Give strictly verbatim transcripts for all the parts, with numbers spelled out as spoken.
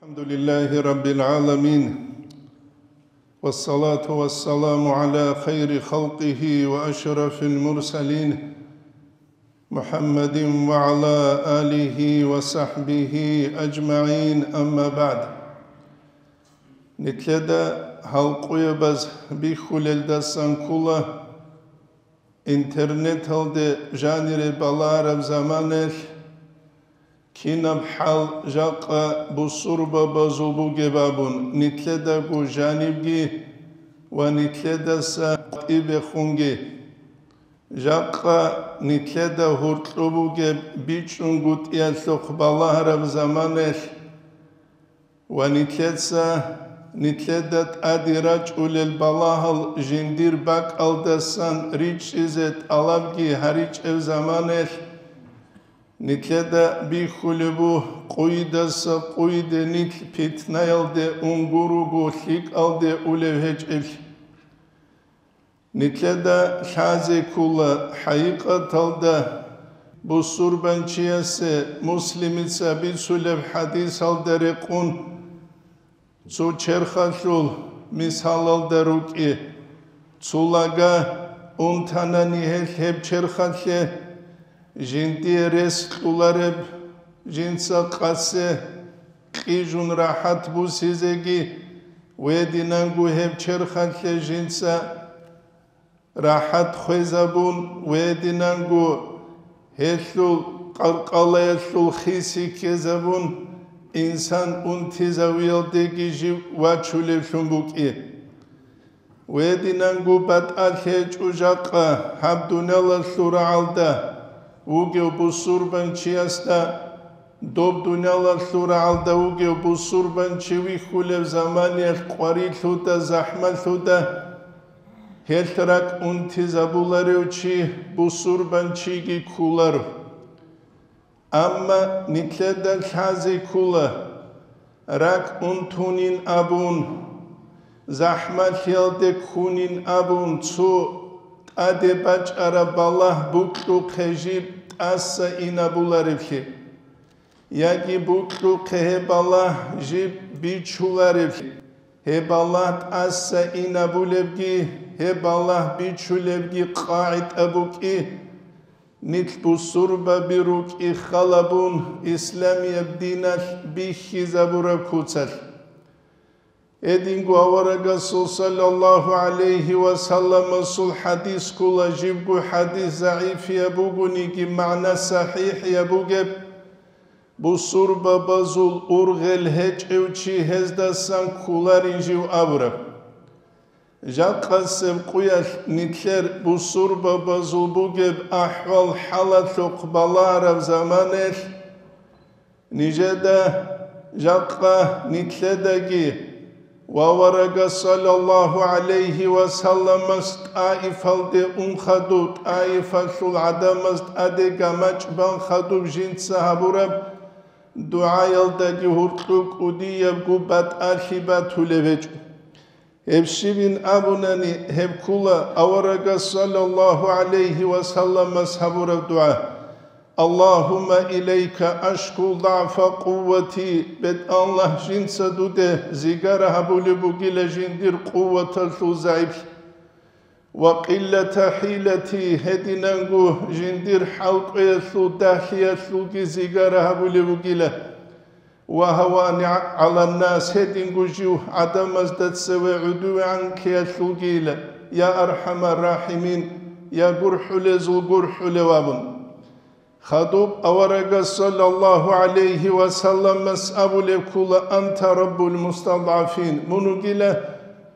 الحمد لله رب العالمين، والصلاة والسلام على خير خلقه وأشرف المرسلين، محمد وعلى آله وصحبه أجمعين، أما بعد. Нилъеда гьал къуябаз бихьулелдасан ккола, интернеталде жанире балагьараб заманаялъ кинаб хӀал жакъа бусурбабазул бугеб абун нилъедаго жанибги ва нилъедаса тӀибехунги. Жакъа нилъеда гьоркьоб бугеб бичӀчӀунгутӀиялъухъ балагьараб заманаялъ ва нилъеца нилъеда тӀаде рачӀулел балагьал жиндир бакӀалдасан ричӀчӀизе тӀалабги гьаричӀеб заманаялъ, нилъеда бихьулеб буго къуйдаса къуйде нилъ питнаялде унгуруго лъикӀалде улев гьечӀеблъи. Нилъеда лъазе ккола хӀакъикъаталда бусурбанчиясе Муслимица бицулеб хӀадисалда рекъон, цо черхалъул мисалалда рукӀи. Цо лага унтанани гьелъ гьеб черхалъе, жиндие рес кьолареб жинца къасе кьижун рахӀат бусизеги, гьединанго гьеб черхалъе жинца рахӀат хвезабун, гьединанго гьелъул къаркъалаялъул хиси ккезабун, инсан унтизавиялдеги жив вачулевлъун букӀи. Гьединанго батӀалъи гьечӀо жакъа гьаб дуниялалъул рагӀалда вугев бусурбанчиясда, доб дуниялалъул рагӀалда вугев бусурбанчи вихьулев заманиялъ къварилъуда, захӀмалъуда, гьелъ ракӀ унтизабуларев чи бусурбанчиги кколаро. Амма нилъеда лъазе ккола, ракӀ унтунин абун, захӀмалъиялде ккунин абун, цо тӀаде бачӀараб балагь букьухъе жиб тӀаса инабулареблъи, яги букьухъе гьеб балагь жиб бичулареблъи, гьеб балагь тӀаса инабулебги, гьеб балагь бичулебги къагӀида букӀи. Нилъ бусурбаби рукӀи халабун исламияб диналъ бихьизабураб куцалъ. Гьединго аварагасул саллаллагьу гӀалайгьи ва салламасул хӀадис ккола, жибго хӀадис загӀипияб бугониги, магӀна сахӀихӀияб бугеб, бусурбабазул ургъел гьечӀев чи гьездасан кколарин жив абураб. Жакъасеб къуялъ нилъер бусурбабазул бугеб ахӀвал-хӀалалъухъ балагьараб заманаялъ, нижеда жакъа нилъедаги ва аварагас саллаллагьу гӀалайгьи ва салламас ТӀаифалде ун хадуб, ТӀаифалъул гӀадамаз тӀаде гамачӀ бан хадуб жинца гьабураб дугӀаялдаги гьоркьоб кӀудиябго батӀалъи батулеб гьечӀо. Гьеб щибин абунани, гьеб ккола аварагас саллаллагьу гӀалайгьи ва салламас гьабураб дугӀа: «Аллагьумма илайка ашку дагӀфа къуввати», БетӀаллагь, жинца дуде зигара гьабулеб бугила жиндир къуваталъул загӀиплъи, «ва къиллата хӀилати», гьединанго жиндир хӀалкӀвеялъул дагьлъиялъулги зигара гьабулеб бугила. «Ва гьавани гӀаланнас», гьединго жив гӀадамазда цеве гӀодовегӀанлъиялъулгийила, «я архӀамар рахӀимин», я гурхӀулезул гурхӀулев абун. Хадуб аварагас саллаллагьу гӀалайгьи ва салламас абулеб ккола: «Анта раббул мустадгӀафин», мун вугила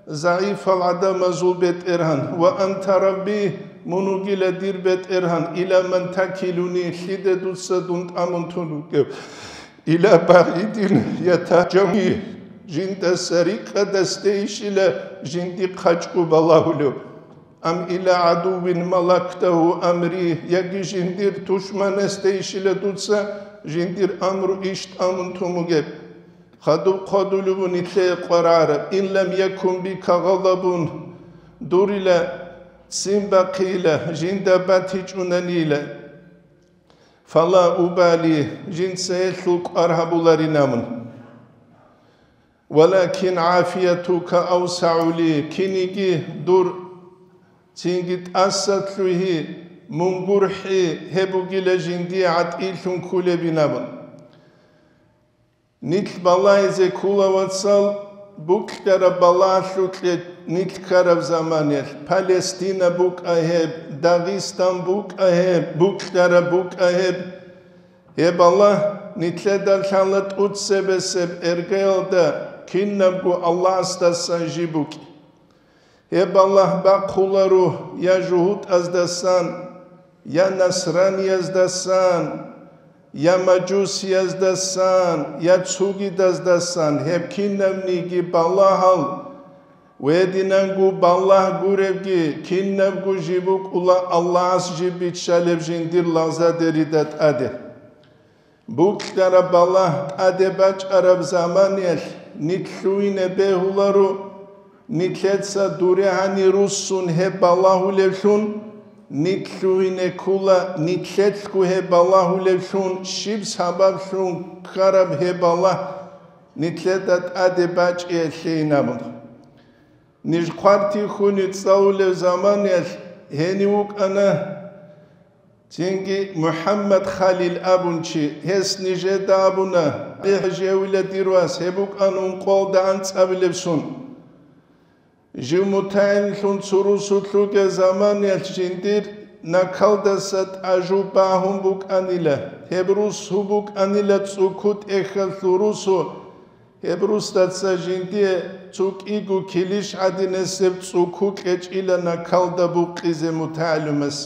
загӀипал гӀадамазул бетӀергьан, «ва анта рабби», мун вугила дир бетӀергьан, «ила ман такилуни», лъиде дуца дун тӀамун тун вугев. «Ила багӀидин ятажавни», жиндаса рикӀкӀадасдейищила жинди хъачӀго балагьулев, «ам ила гӀадувин малактагьу амри», яги жиндир тушманасдейищила дуца жиндир амру иш тӀамун тун бугеб. Хадуб хъвадулев вун нилъее къваригӀараб: «Ин лам якун бика гъадабун», дурила ццин бахъила, жинда батичӀунанила. «Фала убали», жинца гьелъул кӀвар гьабуларин абун. Валакин гӀафиятука авсагӀу ли, киниги дур цинги тӀаса лъугьи, мун гурхӀи гьеб бугила жиндие гӀатӀилъун кколебин абун. Нилъ балагьизе ккола, вацал, букьараб балагьлъукье нилъ ккараб заманаялъ, Палестина букӀа гьеб, Дагъистан букӀа гьеб, букьараб букӀа гьеб. Гьеб балагь нилъеда лъала тӀоцебесеб эргаялда кинабго Аллагьасдасан жиб букӀи. Гьеб балагь бахъуларо я жугьутӀаздасан, я насраниязасан, я мажусияздасан, я цогидаздасан, гьеб кинабниги балагьал, гьединанго балагь гуребги, кинабго жиб букӀула Аллагьас жиб биччалеб жиндир лагъзадерида тӀаде. Букьараб балагь тӀаде бачӀараб заманаялъ нилъ лъугьине бегьуларо, нилъеца дуре гьани руссун гьеб балагьулевлъун, нилъ лъугьине ккола нилъелъго гьеб балагьулевлъун, щиб сабаблъун ккараб гьеб балагь нилъеда тӀаде бачӀиялъейин абун. Ниж хъвартихьуни цӀалулев заманаялъ гьенив вукӀана цинги МухӀаммад Халил абун чи, гьес нижеда абуна: «ГӀали-ХӀажи, гьавила дир вас, гьеб букӀан ункъоялда анцӀабилеб сон». Жив мутагӀилимлъун цо русулъ ругел заманаялъ жиндир накалдаса тӀажу багьун букӀанила, гьеб рус гьуб букӀанила цӀукутӀехьалъул русу, гьеб русдаца жиндие цо кӀиго килищ гӀадинасеб цӀуку кьечӀила накалда букъизе мутагӀилимас.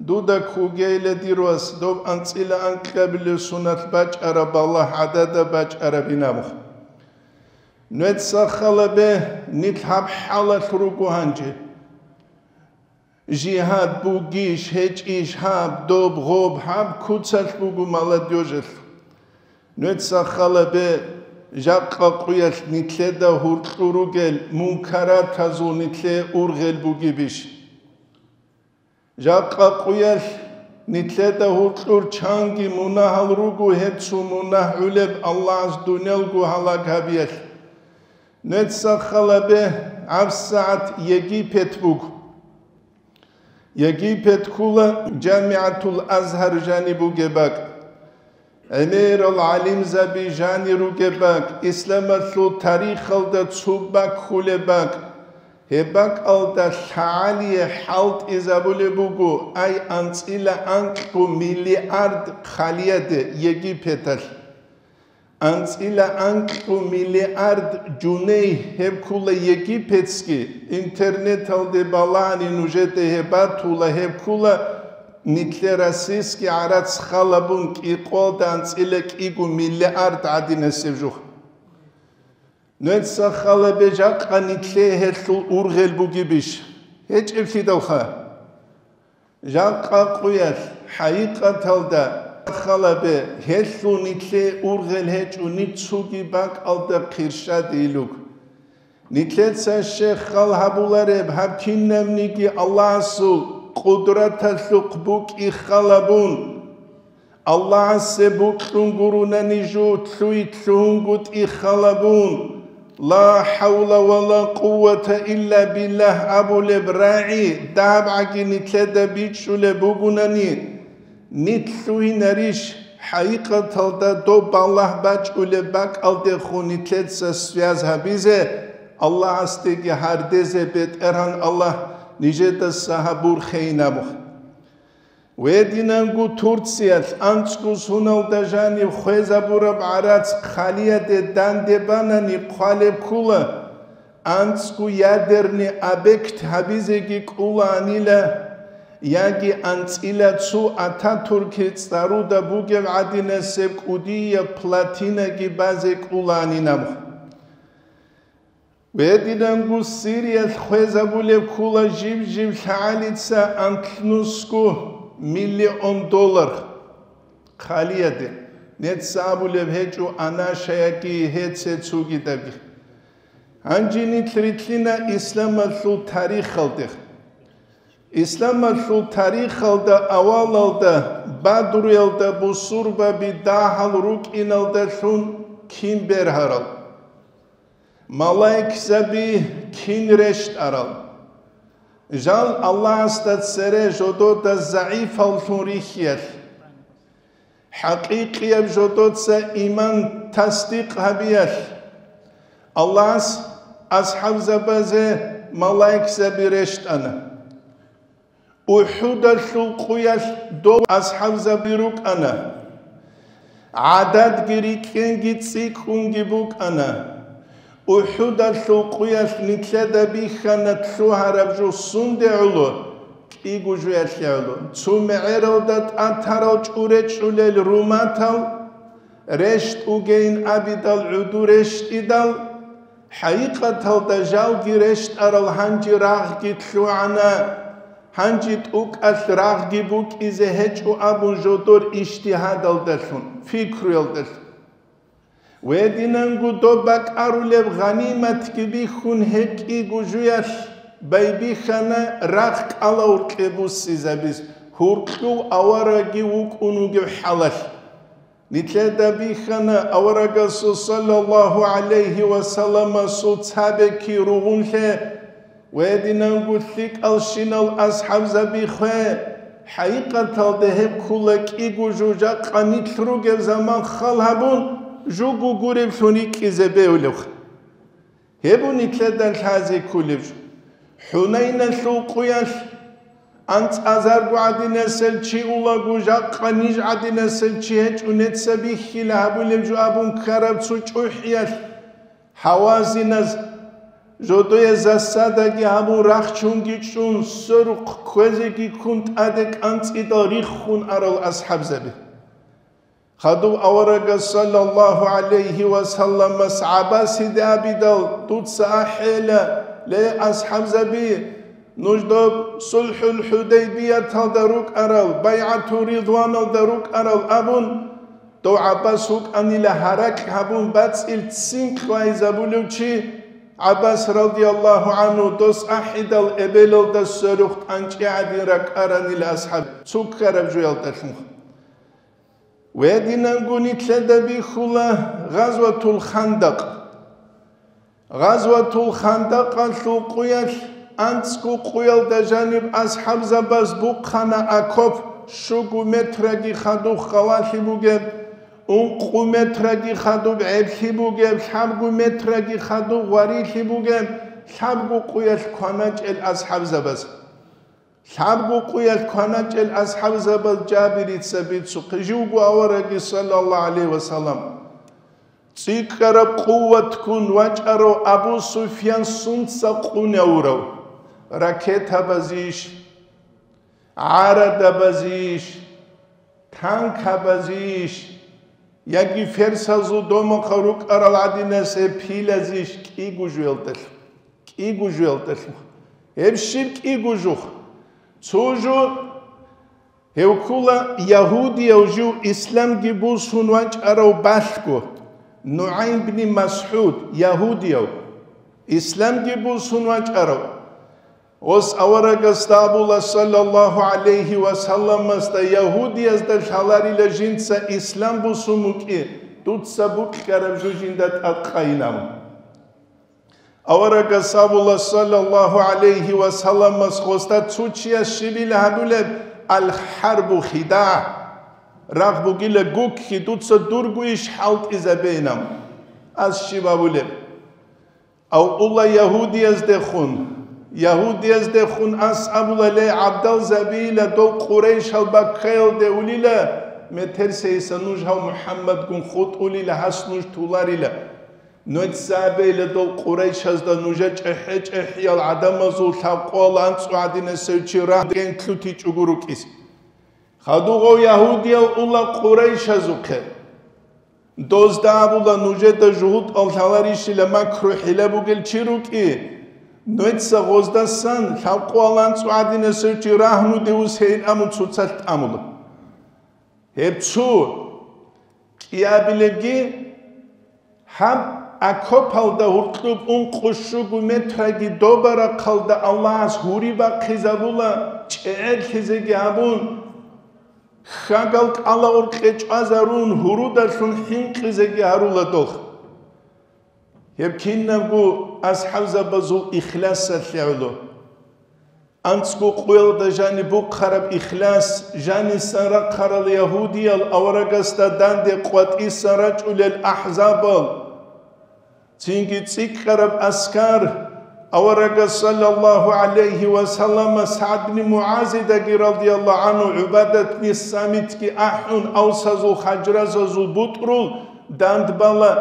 Дуда ккогейила дир вас, доб анцӀила анкьабилеб соналъ бачӀараб балагь гӀадада бачӀарабин абун. Нуеца халабе, нилъ гьаб хӀалалъ руго гьанже. Жигьад бугищ, гьечӀищ гьаб, доб, гъоб, гьаб куцалъ буго молодёжалъ. Нуеца халабе, жакъа къуялъ нилъеда гьуркьу ругел мункаратазул нилъее ургъел бугебищ? Жакъа къуялъ нилъеда гьуркьур чанги мунагьал руго, гьеб цо мунагь гӀолеб Аллагьас дуниялго гьалаг гьабиялъ. Нуеца халабе, гьабсагӀат Египет буго. Египет ккола ЖамигӀатул Азгьар жаниб бугеб бакӀ. ГӀемерал гӀалимзаби жанир ругеб бакӀ, исламалъул тарихалда цо бакӀ хьулеб бакӀ, гьеб бакӀалда лъагӀалие хӀалтӀизабулеб буго, ай, анцӀила анкьго миллиард хъалияде Египеталъ. АнцӀила анкьго миллиард жуней гьеб ккола египетский, интернеталде балагьани нужеде гьеб батула, гьеб ккола нилъер российский гӀарац халабун кӀикъоялда анцӀила кӀиго миллиард гӀадинасеб жух. Нуеца халабе, жакъа нилъее гьелъул ургъел бугебищ? ГьечӀеблъидалха. Жакъа къуялъ, хӀакъикъаталда, халабе, гьелъул нилъее ургъел гьечӀо нилъ цоги бакӀалда хирщадилуг. Нилъеца щай хал гьабулареб, гьаб кинабниги Аллагьасул къудраталъухъ букӀи халабун. Аллагьасе бокьун гуронани жо лъуй лъугьунгутӀи халабун, «Ла хӀавла ва ла къуввата илла биллагь» абулеб рагӀи дагьабгӀаги нилъеда бичӀчӀулеб бугунани, нилъ лъугьинарищ, хӀакъикъаталда доб балагь бачӀулеб бакӀалдехун нилъеца связь гьабизе, Аллагьасдеги гьардезе БетӀергьан Аллагь нижедаса гьабурхейин абу. Гьединанго Турциялъ анцӀго соналда жанив хвезабураб гӀарац хъалияде данде банани хъвалеб ккола, анцӀго ядерный объект гьабизеги кӀолаанила, яги анцӀила цо Ататурки цӀаруда бугеб гӀадинасеб кӀудияб плотинаги базе кӀолаанин абу. Гьединанго Сириялъ хвезабулеб ккола жиб-жиб лъагӀалица анлънусго миллион доллар хъалияде, нецц абулеб гьечӀо анашаяги гьеце цогидаги. Гьанже нилъ рилълъина исламалъул тарихалде. Исламалъул тарихалда авалалда Бадруялда бусурбаби дагьал рукӀиналдалъун кин бергьарал? Малаикзаби кин рещтӀарал? Жал Аллагьасда цере жодода загӀипаллъун рихьиялъ, хӀакъикъияб жодоца иман тасдикъ гьабиялъ, Аллагьас асхӀабзабазе малаикзаби рещтӀана. УхӀудалъул къуялъ дов асхӀабзаби рукӀана. ГӀададги рикӀкӀенги цӀикӀкӀунги букӀана. УхӀудалъул къуялъ нилъеда бихьана лъугьараб жо сунде гӀоло, кӀиго жуялъе гӀоло. Цо мегӀералда тӀатарал чӀуречӀулел руматал, рещтӀугейин абидал гӀуду рещтӀидал, хӀакъикъаталда жалги рещтӀарал гьанже рагъги лъугӀана, гьанже тӀукӀалъ рагъги букӀизе гьечӀо абун жодор ижтигьадалдалъун, пикруялдалъун. Гьединанго доб бакӀарулеб гъаниматги бихьун гьеб кӀиго жуялъ байбихьана рагъ кӀалауркье буссизабиз, гьуркьув аварагги вукӀун вугев хӀалалъ. Нилъеда бихьана аварагасул саллаллагьу гӀалайгьи ва салламасул цабеки ругъунлъе ва гьединанго лъикӀалщинал асхӀабзаби хве, хӀакъикъаталда гьеб ккула кӀиго жо жакъа нилъ ругеб заман хал гьабун, жуго гуреблъун рикӀкӀизе бегьулевха. Гьеб нилъеда лъазе кколеб жо. ХӀунайналъул къуялъ анцӀазарго гӀадинасел чи улаго, жакъа ниж гӀадинасел чи гьечӀо, неца бихьила гьабулеб жо абун ккараб цо чӀухӀиялъ, гьавазиназ жодое засадаги гьабун, рахчунги чӀун, сверухъ кквезеги ккун, тӀаде кӀанцӀидал риххун арал асхӀабзаби. Хадуб аварагас саллаллагьу гӀалайгьи ва салламас ГӀаббасиде абидал, дуца ахӀела, ле, асхӀабзаби, нуж доб сулхӀул ХӀудайбияталда рукӀарал, байгӀату Ридваналда рукӀарал абун, дов ГӀаббас вукӀанила гьаракь гьабун бацӀил ццин кьвайзабулев чи, ГӀаббас радияллагьу гӀангьу дос ахӀидал эбелалда сверухъ тӀанчӀи гӀадин ракӀаранила асхӀаб цуккараб жуялдалъун. Гьединанго нилъеда бихьула Гъазватул Хандакъ. Гъазватул Хандакъалъул къуялъ анцӀго къуялда жаниб асхӀабзабаз бухъана окоп, щуго метраги хадуб халалъи бугеб, ункъо метраги хадуб гӀеблъи бугеб, лъабго метраги хадуб гъварилъи бугеб, лъабго къуялъ кваначӀел асхӀабзабаз. Лъабго къуялъ кваначӀел асхӀабзабаз Жабирица бицухъе, живго аварагги, саллаллагьу гӀалайгьи ва саллам, цӀикӀкӀараб къуватгун вачӀарав Абу Суфьян сунца къунявурав? Ракетабазийищ? ГӀарадабазийищ? Танкабазийищ? Яги ферсазул домахъа рукӀарал гӀадинас гьеб пилазийищ? КӀиго жуялдалъ. КӀиго жуялдалъун. Гьеб щиб кӀиго жух? Цо жо гьев ккула ягьудияв жив исламги бусун вачӀарав балъго, НугӀайм бни МасгӀуд, ягьудияв, исламги бусун вачӀарав. Гъос аварагасда абула, саллаллагьу гӀалайгьи ва салламасда, ягьудиязда лъаларила жинца ислам бусун букӀи, дуца букьараб жо жинда тӀадкъайинаб. Аварагас абула, саллаллагьу гӀалайгьи ва салламас, гъосда цо чияс щибила гьабулеб: «Ал-хӀарбу хидагӀ», рагъ бугила гукки, дуца дурго иш хӀалтӀизабейилан. Ас щиб абулеб? Авъула ягьудияздехун. Ягьудияздехун ас абула: «Ле, гӀабдалзабийила дол къурайшал баккаялде улила, метерсейиса нуж гьав МухӀаммадгун хутӀулила, гьас нуж туларила». Нугьцабейла дол къурайшазда нужа чӀехӀе-чӀехӀиял гӀадамазул лъабкъоялда анцӀго гӀадинасев чи рагьден лъутичӀого рукӀизе. Хадув гъов ягьудияв ула къурайшазухъе. Дозда абула, нужеда жугьутӀал лъаларищила макру-хӀила бугел чи рукӀи, нугьца гъоздасан лъабкъоялда анцӀго гӀадинасев чи рагьнуде усейин абун цоцалъ тӀамула. Гьеб цо. КӀиабилебги, гьаб окопалда гьуркьуб ункъо-щуго метраги добарахъалда Аллагьас гьури бахъизабула, чӀегӀерлъизеги гьабун, хьагал кӀалауркье чӀвазарун, гьурудалъун хӀинкъизеги гьарула дол. Гьеб кинабго асхӀабзабазул ихласалъе гӀоло. АнцӀго къоялда жаниб бухъараб ихлас, жанисан рахъарал ягьудиял аварагасда данде къватӀисан рачӀулел ахӀзабал, цинги цӀикӀкӀараб аскар, аварагас саллаллагьу гӀалайгьи ва саллама СагӀд бни МугӀазидаги радияллагьу гӀангьу ГӀубадат бни Самитги ахӀун, авсазул, хазражазул бутӀрул дандбала,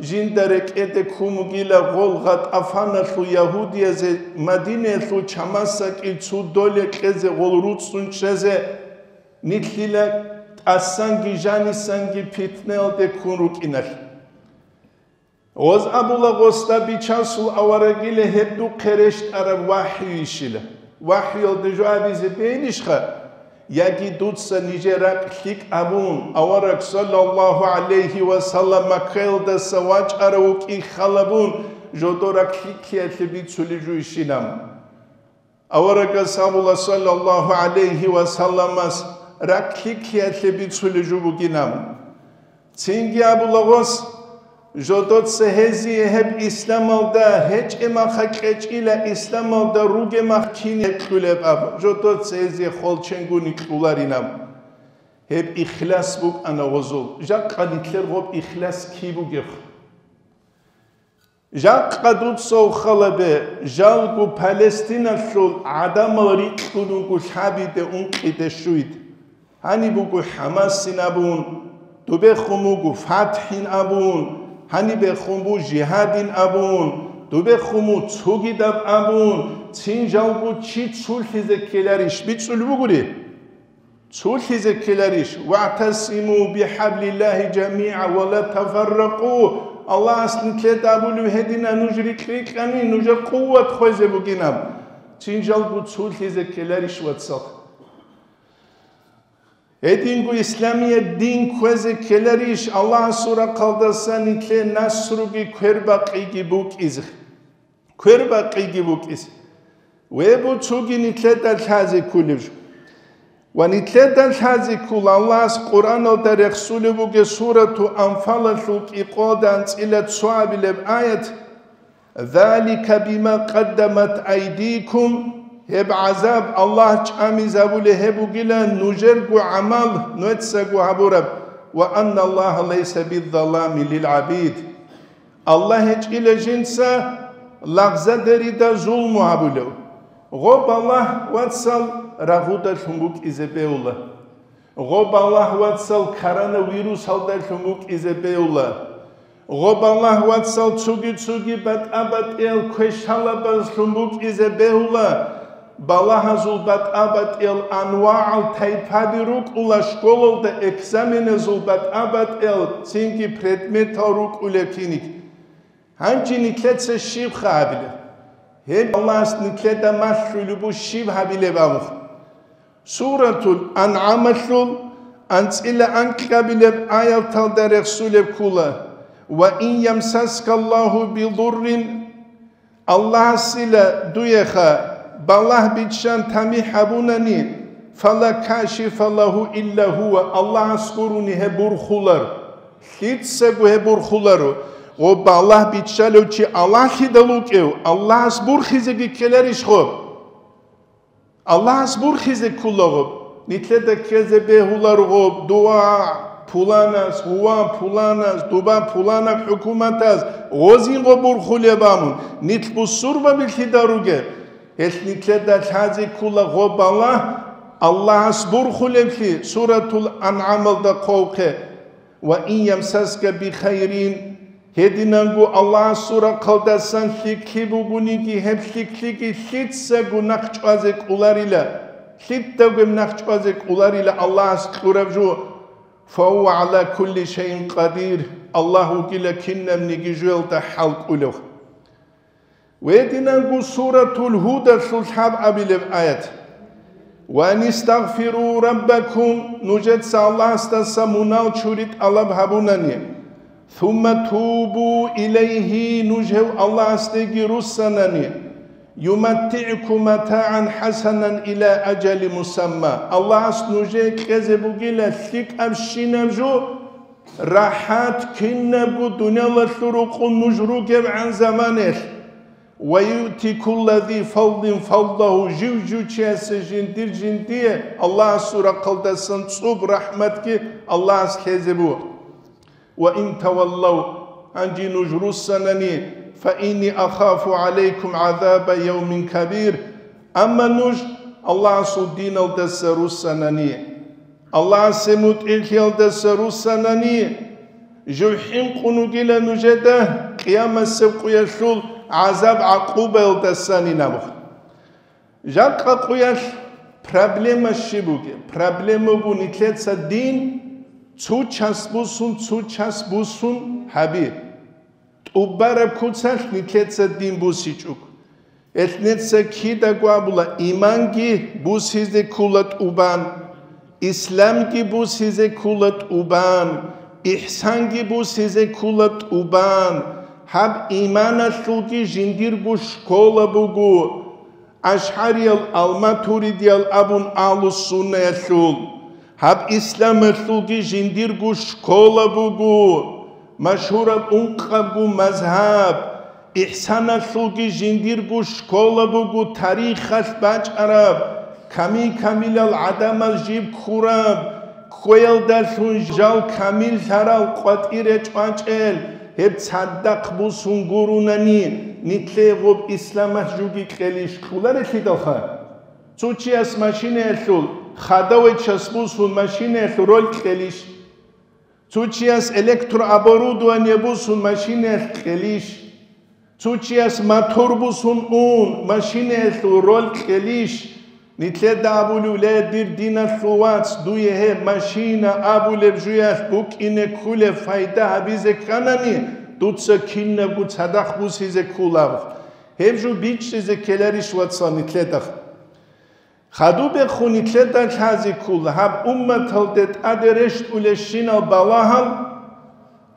жинда рекӀеде ккун бугила гъол ГъатӀафаналъул ягьудиязе Мадинаялъул чамасдакӀил цо доле кьезе, гъол руцӀцӀун чӀезе, нилъила тӀасанги жанисанги питнаялде ккун рукӀиналъ. Гъоз абула гъосда: «Бичасул аварагила гьеб духъе рещтӀараб вахӀюйищила? ВахӀюялда жо абизе бегьилищха? Яги дуца нижер ракь лъикӀ абун, авараг саллаллагьу гӀалайгьи ва саллам Маккаялдаса вачӀарав вукӀин хал абун, жодор ракь лъикӀлъиялъе бицулеб жуйищилан?» Аварагас абула саллаллагьу гӀалайгьи ва салламас ракь лъикӀлъиялъе бицулеб жо бугилан. Цинги абула гъос: «Жодоца гьезие гьеб исламалда гьечӀеб махха кьечӀила, исламалда ругеб мах кин кьулеб», – абун, жодоца гьезие холченгуни кьуларилан. Гьеб ихлас букӀана гъозул. Жакъа нилъер гъоб ихлас киб бугеб? Жакъа дуца ухалабе, жалго Палестиналъул гӀадамал рикьун руго лъабиде, ункъиде, щуйде. Гьаниб буго ХӀамасин абун, дубехун буго ФатхӀин абун, гьанибехун буго жигьадин абун, дубехун буго цогидаб абун, цин жалго чи цулъизе ккеларищ бицӀулеб бугури? Цулъизе ккеларищ? «ВагӀтасиму бихӀаблиллагьи жамигӀа ва ла тафарракъу». Аллагьас нилъеда абулев гьедина: нуж рикь-рикьани, нужер къуват хвезе бугинаб. Цин жалго цулъизе ккеларищ, вацал? Гьединго исламияб дин кквезе ккеларищ, Аллагьасул рахъалдасан нилъее насруги квербакъиги букӀизе? Квербакъиги букӀизе. Веб цоги нилъеда лъазе кколеб жо. Ва нилъеда лъазе ккола Аллагьас Къуръаналда рехсулеб бугеб сурату Анфалалъул кӀикъоялда анцӀила цо абилеб аят: «Залика бима къаддамат айдикум», гьеб гӀазаб Аллагь чӀамизабулеб гьеб бугила нужерго гӀамал, нужецаго гьабураб, «ва анналлагьа лайса биззалами лил гӀабид». Аллагь гьечӀила жинца лагъзадерида зулму гьабулев. Гъоб Аллагь, вацал, рагъудалъун букӀизе бегьула. Гъоб Аллагь, вацал, коронавирусалдалъун букӀизе бегьула. Гъоб Аллагь, вацал, цоги-цоги батӀа-батӀиял квешалабазлъун букӀизе бегьула. Балагьазул батӀа-батӀиял анвагӀал тайпаби рукӀула школалда экзаменазул батӀа-батӀиял цинги предметал рукӀулеб киник. Гьанже нилъеца щибха гьабилеб? Гьеб Аллагьас нилъеда малъулеб буго щиб гьабилеб абун. Суратул АнгӀамалъул анцӀила анкьабилеб аяталда рехсулеб ккола: «Ва ин ямсаска Аллагьу бидуррин», Аллагьасила дуеха балагь биччан тамихӀ гьабунани, «фала кашифа лагьу илла гьува», Аллагьас гурони гьеб бурхулар. Лъицаго гьеб бурхуларо. Гъоб балагь биччалев чи Аллагьлъидал вукӀев, Аллагьас бурхизеги ккеларищ гъоб? Аллагьас бурхизе кколаго, нилъеда ккезе бегьуларго дуа пуланас, гъува пуланас, дуба пуланаб хӀукуматас, гъозинго бурхулеб абун, нилъ бусурбаби лъида ругеб? Гьелъ нилъеда лъазе ккола гъоб балагь Аллагьас бурхулеблъи, суратул АнгӀамалда хъвавухъе. «Ва ин ямсаска бихайрин», гьединанго Аллагьасул рахъалдасан лъикӀлъи бугониги, гьеб лъикӀлъиги лъицаго нахъ чӀвазе кӀоларила, лъидавгеб нахъ чӀвазе кӀоларила Аллагьас кьураб жо, «фагьува гӀала кулли шайин къадир», Аллагь вугила кинабниги жоялда хӀал кӀолев. Гьединанго суратул Гьудалъул лъабабилеб аят: «Ва анистагъфиру раббакум», нужеца Аллагьасдаса мунал чури тӀалаб гьабунани, «сумма тубу илайгьи», нуж гьев Аллагьасдеги руссанани, «юматтигӀкум матагӀан хӀасанан ила ажали мусамма», Аллагьас нужее кьезе бугила лъикӀабщинаб жо, РахӀат кинабго дуниялалъул рукъун нуж ругебгӀан заманелъ. «Ва юъти кулла зи фадлин фадлагьу», жив-жив чиясе жиндир-жиндие Аллагьасул рахъалдасан цӀоб рахӀматги Аллагьас лъезе буго. «Ва ин таваллав», гьанже нуж руссанани, «фа инни ахафу гӀалайкум гӀазаба явмин кабир», амма нуж Аллагьасул диналдаса руссанани, Аллагьасе мутӀигӀлъиялдаса руссанани, жив хӀинкъун вугила нужеда къиямасеб къуялъул гӀазаб-гӀакъубаялдасанин абун. Жакъа къуялъ проблема щиб бугеб? Проблема буго нилъеца дин цо час бусун, цо час бусун гьаби. ТӀубараб куцалъ нилъеца дин бусичӀого. Гьелъ нилъеца кидаго абула: иманги бусизе ккола тӀубан, исламги бусизе ккола тӀубан, ихсанги бусизе ккола тӀубан. Гьаб иманалъулги жиндирго школа буго. АшгӀариял, ал-матуридиял абун агьлу-суннаялъул, гьаб исламалъулги жиндирго школа буго, машгьураб ункъабго мазгьаб, ихсаналъулги жиндирго школа буго, тарихалъ бачӀараб, камил-камилал гӀадамал жиб ккураб, кквеялдалъун жал камиллъарал къватӀире чӀвачӀел, гьеб цадахъ бусун гурунани, нилъее гъоб исламалъ жуги кьелищ кьоларелъидалха? Цо чияс машинаялъул, хадавай час бусун машинаялъул роль кьелищ? Цо чияс электрооборудование бусун машинаялъ кьелищ? Цо чияс мотор бусун ун, машинаялъул роль кьелищ? Нилъеда абулев: «Ле, дир диналъул вац, дуе гьеб машина абулеб жуялъ букӀине кколеб пайда гьабизе кканани, дуца кинабго цадахъ бусизе кколаб». Гьеб жо бичӀчӀизе ккеларищ, вацал, нилъеда? Хадубехун нилъеда лъазе ккола гьаб умматалде тӀаде рещтӀулебщинал балагьал,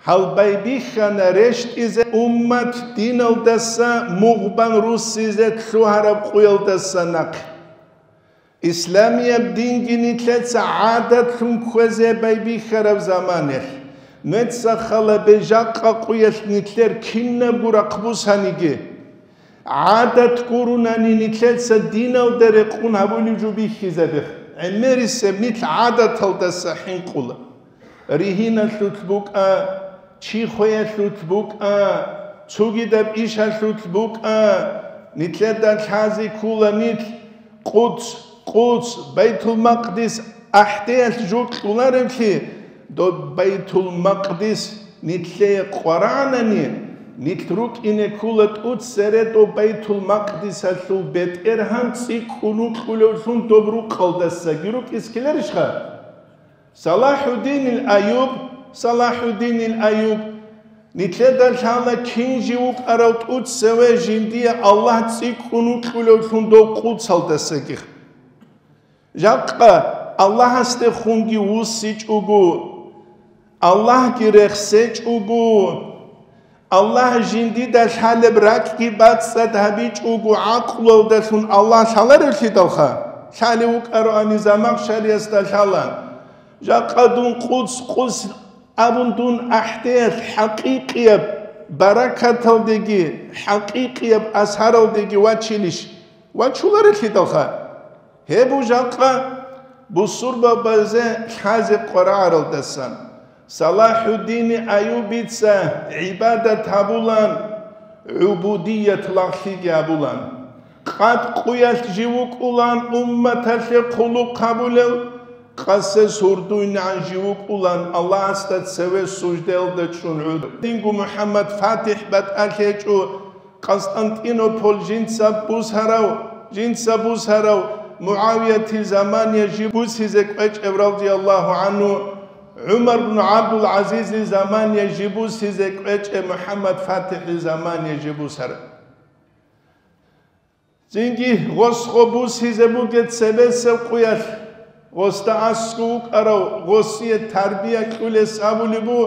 гьал байбихьана рещтӀизе уммат диналдаса мугъ бан руссизе лъугьараб къуялдаса нахъе. Исламияб динги нилъеца гӀадатлъун кквезе байбихьараб заманалъ, нуца хала бе жакъа къуялъ нилъер кинабго рахъ бусаниги, гӀадат гурунани нилъеца диналда рекъун гьабулеб жо бихьизабе. ГӀемерисеб нилъ гӀадаталдаса хӀинкъула. Ригьиналъулъ букӀа, чи хвеялъулъ букӀа, цогидаб ишалъулъ букӀа, нилъеда лъазе ккола нилъ Къудс, Къудс, Байтул-Макъдис ахӀдеялъ жо кьолареблъи, доб Байтул-Макъдис нилъее къварагӀанани, нилъ рукӀине ккола тӀоцере доб Байтул-Макъдисалъул бетӀергьан цӀикӀкӀун вукьулевлъун доб рукъалдасаги рукӀизе ккеларищха? Салахьуддинил Аюб, Салахьуддинил Аюб, нилъеда лъала кин жив вукӀарав тӀоцеве жиндие Аллагь цӀикӀкӀун вукьулевлъун дов Къудсалдасаги. Жакъа Аллагьасдехунги вуссичӀого, Аллагьги рехсечӀого, Аллагь жиндида лъалеб ракӀги бацӀцӀад гьабичӀого гӀакълуялдалъун Аллагь лъаларевлъидалха, лъалев вукӀароани Замахшариясда лъала. Жакъа дун Къудс, Къудс абун дун ахӀдеялъ хӀакъикъияб баракаталдеги, хӀакъикъияб асаралдеги вачилищ? Вачуларелъидалха. Гьеб жакъа бусурбабазе лъазе къварагӀаралдасан, Салахьуддини Аюбица гӀибадат гьабулан, гӀубудият лагълъиги гьабулан. Къад къуялъ жив вукӀулан умматалъе хъулухъ гьабулев, къасес гьурдуйнигӀан жив вукӀулан Аллагьасда цеве суждаялда чӀун гӀуд. Динго МухӀаммад ФатихӀ батӀалъи гьечӀо, Къастантинополь жинца бусарав, жинца бусарав МугӀавиятил замания жиб бусизе кӀвечӀев, радияллагьу гӀанху, ГӀумар бну ГӀабдул-ГӀазизил замания жиб бусизе кӀвечӀев, МухӀаммад ФатихӀил замания жиб бусарав. Цинги гъос гъо бусизе бугеб цебесеб къуялъ, гъосда аскӀов вукӀарав, гъосие тарбия кьулес абулеб бу,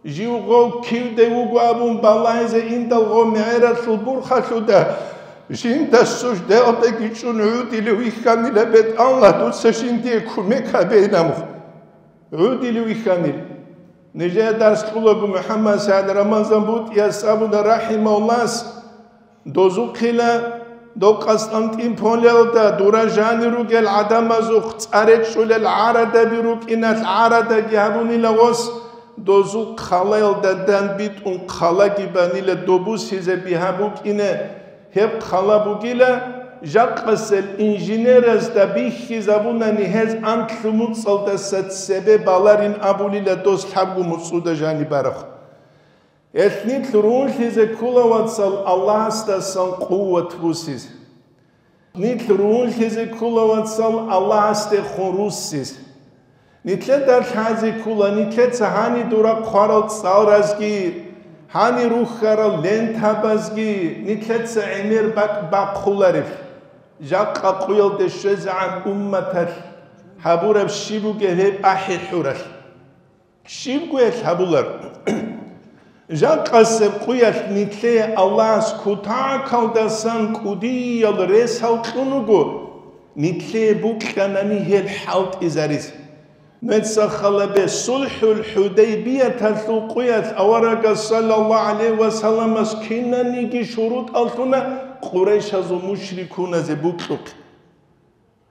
жив гъов кивде вуго абун балагьизе индал гъов мегӀералъул бурхалъуда, жинда суждаялдаги чӀун гӀудилев вихьанила, бетӀалла дуца жиндие кумек гьабейин абун. ГӀудилев вихьанила. Нижее дарс кьулаго МухӀаммад СагӀид Рамазан БутӀияс абуна рахӀимагьуллагьас, дозухъила, дов Къастантинполиялда дура жанир ругел гӀадамазухъ цӀа речӀчӀулел гӀарадаби рукӀиналъ гӀарадаги гьабунила гъос, дозул хъалаялда данбитӀун хъалаги банила добусизе бигьа букӀине. Гьеб хъала бугила, жакъасел инженеразда бихьизабунани гьез анлъу муцӀалдаса цебе баларин абулила дос лъабго муцӀуда жаниб барахъ. Гьелъ нилъ рунлъизе ккола, вацал, Аллагьасдасан къуват бусизе. Нилъ рунлъизе ккола, вацал, Аллагьасдехун руссизе. Нилъеда лъазе ккола, нилъеца гьани дура хъварал цӀалразги, гьани рухьарал лентабазги нилъеца гӀемер бакӀ бахъулареб. Жакъа къуялде щвезегӀан умматалъ гьабураб щиб бугеб гьеб ахӀи-хӀуралъ? Щибго гьелъ гьабулар. Жакъасеб къуялъ нилъее Аллагьас кутакалдасан кӀудиял ресал кьун вуго, нилъее букьанани гьел хӀалтӀизаризе. Нуца халабе, СулхӀул ХӀудайбияталъул къуялъ аварагас саллаллагьу гӀалайгьи ва салламас кинаниги шурутӀал лъуна къурайшазул мушрикуназе букьухъе.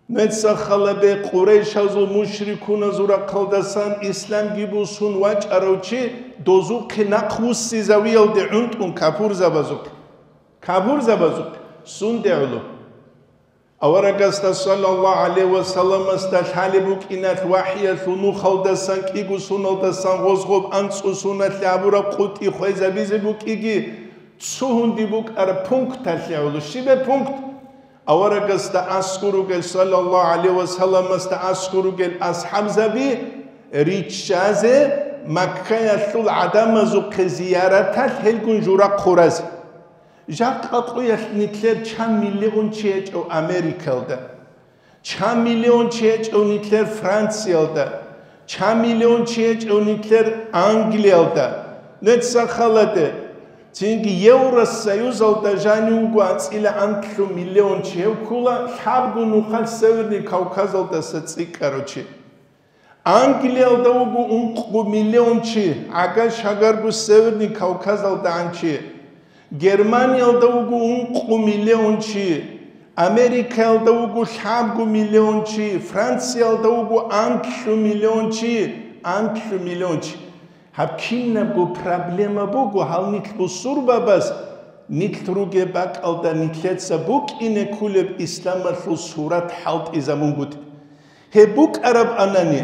Нуца халабе, къурайшазул мушрикуназул рахъалдасан исламги бусун вачӀарав чи дозухъе нахъвуссизавиялде гӀунтӀун капурзабазухъе. Капурзабазухъе сунде гӀоло? Аварагасда саллаллагьу гӀалайгьи ва салламасда лъалеб букӀиналъ вахӀиялъул нухалдасан кӀиго суналдасан гъозгъоб анцӀго суналъе гьабураб къутӀи хвезабизе букӀиги, цо гьунди букӀараб пункталъе гӀоло. Щибе пункт? Аварагасда аскӀор ругел, саллаллагьу гӀалайгьи ва салламасда аскӀор ругел асхӀабзаби риччазе, Маккаялъул гӀадамазухъе зияраталъ гьелгун жура хъуразе. Жакъа къуялъ нилъер чан миллион чи гьечӀев Америкалда, чан миллион чи гьечӀев нилъер Франциялда, чан миллион чи гьечӀев нилъер Англиялда, нуца халабе, цинги Евросоюзалда жанив вуго анцӀила анлъу миллион чи, гьев ккола лъабго нухалъ Северный Кавказалдаса цӀикӀкӀарав чи. Англиялда вуго ункъго миллион чи, гӀага-шагарго Северный КавказалдагӀан чи. Германиялда вуго ункъго миллион чи, Америкаялда вуго лъабго миллион чи, Франциялда вуго анлъу миллион чи, анлъу миллион чи. Гьаб кинабго проблема буго, гьал нилъ бусурбабаз нилъ ругеб бакӀалда нилъеца букӀине кколеб исламалъул сурат хӀалтӀизабунгутӀи. Гьеб букӀараб анани,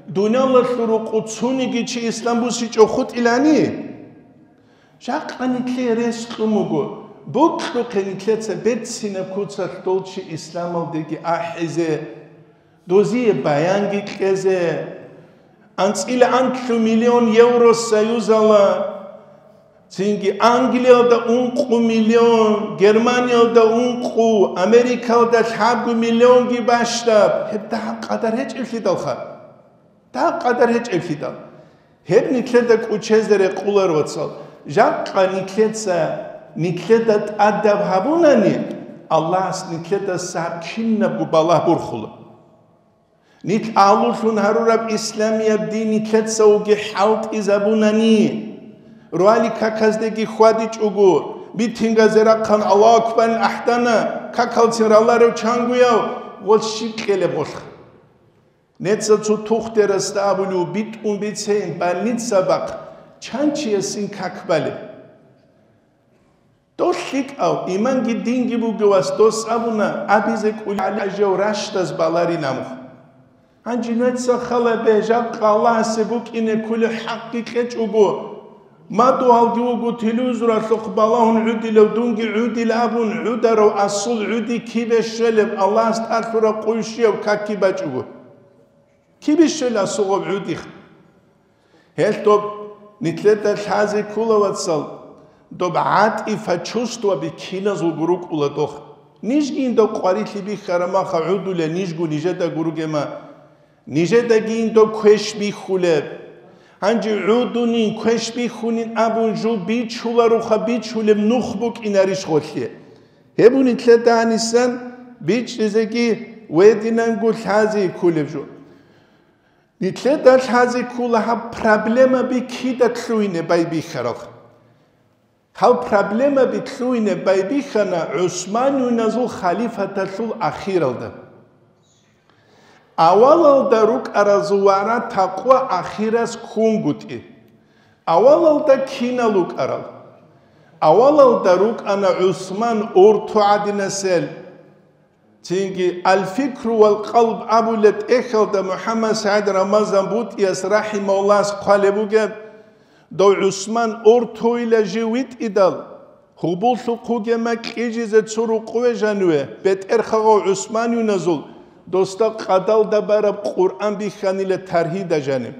дуниялалъул рукъу цониги чи ислам бусичӀо хутӀилани? Жакъа нилъее рес кьун буго, бокьухъе нилъеца берцинаб куцалъ дол чи исламалдеги ахӀизе, дозие баянги кьезе. АнцӀила анлъу миллион Евросоюзала, цинги Англиялда ункъу миллион, Германиялда ункъу, Америкалда лъабго миллионги бащдаб. Гьеб дагьаб къадар гьечӀеблъидалха. Дагьаб къадар гьечӀеблъидал. Гьеб нилъеда кӀучезе рекъолар, вацал. Жакъа нилъеца, нилъеда тӀадаб гьабунани, Аллагьас нилъедаса гьаб кинабго балагь борхула. Нилъ агьлулъун гьарураб исламияб дин нилъецаоги хӀалтӀизабунани, ролик каказдеги хьвадичӀого, митингазе рахъан Аллагьу акбарин ахӀдана, какалцин раларев чангояв, гъол щиб кьелеб гъолъ? Неца цо тухтерасда абулев битӀун бицейин больница бахъ, чан чиясин как балеб? Дол лъикӀав, иманги динги бугевас дос абуна, абизе кӀулгӀали гӀажав ращдаз баларин амухъ. Гьанже нуца хала бе, жакъа Аллагьасе букӀине кколеб хӀакъги кьечӀого, мадугьалги вуго телевизоралъухъ балагьун гӀудилав, дунги гӀудил абун гӀударав асул гӀуди кибе щвелеб, Аллагьас тӀад лъураб къуй щвеяв какги бачӀого. Кибе щвела асугъаб гӀудих? Гьелъ доб нилъеда лъазе ккола, вацал, доб гӀатӀифа чувствоби киназулго рукӀула дох. Нижги индав къварилъи бихьарамаха гӀудуле нижго нижеда гуругема, нижедаги индав квеш бихьулеб. Гьанже гӀудунин, квеш бихьунин абун жо бичуларуха, бичулеб нух букӀинарищ гъолъе? Гьеб нилъеда гьанисан бичӀчӀизеги вединанго лъазе кколеб жо. Нилъеда лъазе ккола гьаб проблемаби кида лъугьине байбихьарал. Гьал проблемаби лъугьине байбихьана ГӀусманюназул халифаталъул ахиралда. Авалалда рукӀаразул вара такъва ахирас ккунгутӀи. Авалалда кинал рукӀарал? Авалалда рукӀана ГӀусман Урту гӀадинасел. Цинги «Аль-фикру вал-къалб» абулеб тӀехьалда МухӀаммад СагӀид Рамазан БутӀияс рахӀимагьуллагьас хъвалеб бугеб: дов ГӀусман Уртуйила жив витӀидал, гьубуллъухъ вугема кьижизе цо рукъуве жаниве, бетӀерхагъав ГӀусманюназул досда къадалда бараб Къуръан бихьанила таргьида жаниб.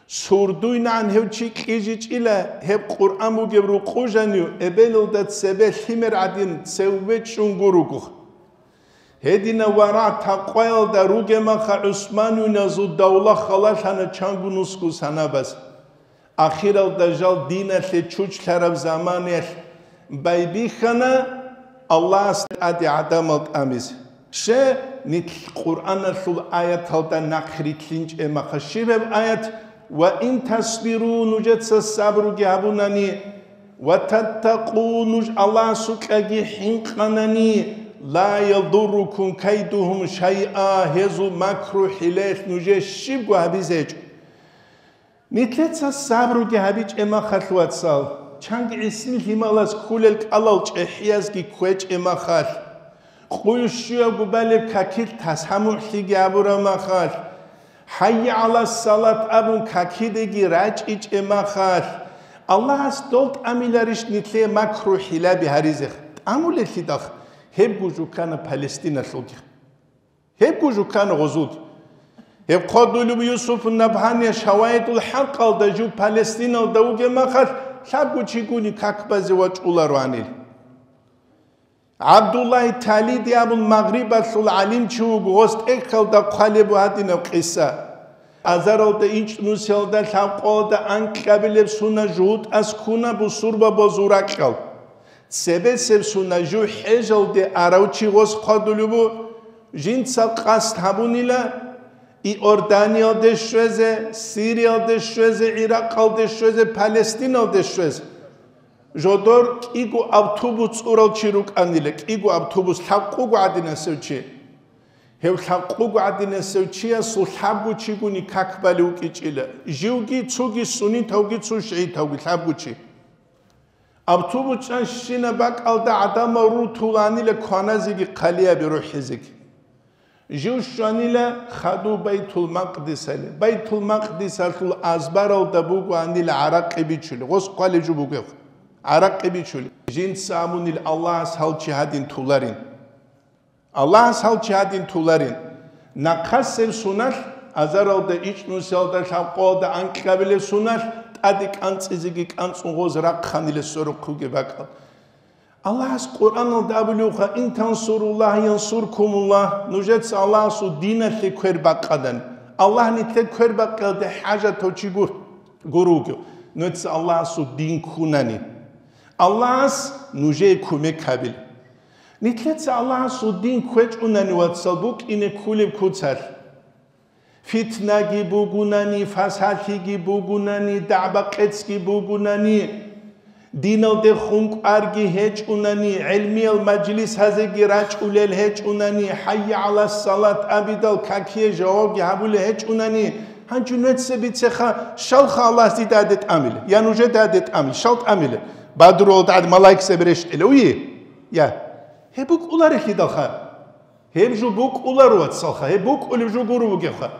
СурдуйнагӀан гьев чи кьижичӀила, гьеб Къуръан бугеб рукъу жанив эбелалда цебе лъимер гӀадин цеве чӀунго руго. Гьединав варагӀ такъваялда ругемаха ГӀусманюназул давла халалъана чанго нусго санабаз. Ахиралда жал диналъе чучлъараб заманаялъ байбихьана Аллагьас тӀаде гӀадамал тӀамизе. Щай, нилъ Къуръаналъул аяталда нахърилълъинчӀеб маха щиб гьеб аят: «Ва ин тасбиру», нужеца сабруги гьабунани, «ва таттакъу», нуж Аллагьасукьаги хӀинкъанани, «ла ядуррукум кайдухум шайъа», гьезул макру-хӀилаялъ нужее щибго гьабизе гьечӀо. Нилъеца сабруги гьабичӀеб махалъ, вацал, чанги гӀисин лъималаз кколел кӀалал чӀехӀиязги кквечӀеб махалъ, къуй щуябго балеб какилъ тасамухӀлъиги гьабураб махалъ, «ХӀайя гӀала салат» абун какидеги рачӀичӀеб махалъ, Аллагьас дол тӀамиларищ нилъее макру-хӀилаби гьаризе? ТӀамулеллъидал гьебго жукана Палестиналъулги. Гьебго жукана гъозулги. Гьеб хъодулеб Юсуф Набгьания «Шаваидул ХӀакъалда» жив Палестиналда вугеб махалъ лъабго чигуни как базе вачӀулароанил. ГӀабдуллагь Талиди абун магърибалъул гӀалимчи вуго, гъос тӀехьалда хъвалеб гьадинаб къиса. Азаралда ичӀнусиялда лъабкъоялда анкьабилеб сунат жугьутӀаз ккуна бусурбабазул ракьал. Цебесеб сунат жив хӀежалде арав чи гъос хъвадулеб бу, жинца къасд гьабунила Иорданиялде щвезе, Сириялде щвезе, Иракъалде щвезе, Палестиналде щвезе. Жодор кӀиго автобус цӀурал чи рукӀанила, кӀиго автобус, лъабкъого гӀадинасев чи. Гьев лъабкъого гӀадинасев чиясул лъабго чигуни как балев вукӀичӀила, живги, цоги суннитавги, цо шигӀитавги, лъабго чи. Автобус чӀанщина бакӀалда гӀадамал рутуланила кваназеги хъалиаби рухӀизеги. Жив щванила хадув Байтул-Макъдисалде. Байтул-Макъдисалъул азбаралда бугоанила гӀаракъи бичулеб, гъос хъвалеб жо бугеб, гӀаракъи бичулеб. Жинца абунила Аллагьас гьал чи гьадин туларин. Аллагьас гьал чи гьадин туларин. Нахъасеб суналъ, азаралда ичӀнусиялда лъабкъоялда анкьабилеб суналъ, тӀаде кӀанцӀизеги кӀанцӀун гъоз рахъанила сверухъ бугеб бакӀал. Аллагьас Къуръаналда абулевха: «Ин тансуруллагь янсуркумуллагь», нужеца Аллагьасул диналъе квер бакъадан, Аллагь нилъер квер бакъиялде хӀажатав чи гур-, гур вугев, нужеца Аллагьасул дин ккунани. Аллагьас нужее кумек гьабил. Нилъеца Аллагьасул дин кквечӀунани, вацал, букӀине ккулеб куцалъ. Фитнаги бугунани, фасалъиги бугунани, дагӀба-къецги бугунани, диналде хун кӀварги гьечӀунани, гӀелмиял мажлисазеги рачӀулел гьечӀунани, «ХӀайя гӀала салат» абидал какие жавабги гьабулел гьечӀунани, гьанчо нуеца бицеха, щалха Аллагьас дида гьаде тӀамиле, я нужеда гьаде тӀамиле, щал тӀамиле? Бадрулда гӀад малаикзаби рещтӀила уе? Я. Гьеб букӀуларелъидалха. Гьеб жо букӀуларо, вацалха, гьеб букӀулеб жо гуро бугебха.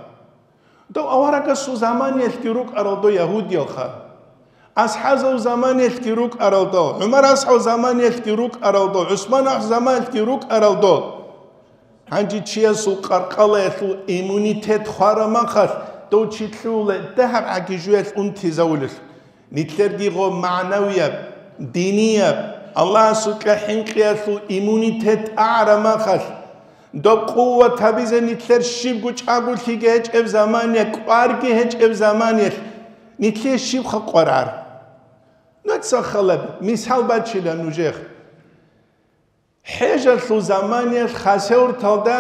Дов аварагасул заманиялъги рукӀарал дов ягьудиялха. АсхӀазул заманиялъги рукӀарал дов, ГӀумар асхӀаб заманиялъги рукӀарал дов, ГӀусман асхӀаб заманиялъги рукӀарал дов. Гьанже чиясул къаркъалаялъул иммунитет хвара махалъ, дов чи лъугьула дагьаб гӀаги жуялъ унтизавулелъул. Нилъерги гъо магӀнавияб, динияб, Аллагьасукьа хӀинкъиялъул иммунитет агӀара махалъ, доб къуват гьабизе нилъер щибго чӀаголъиги гьечӀеб замания, кӀварги гьечӀеб заманиялъ, нилъее щибха къварар? Нуца халаб мисал бачила нужехъ. ХӀежалъул заманиялъ Хасавюрталда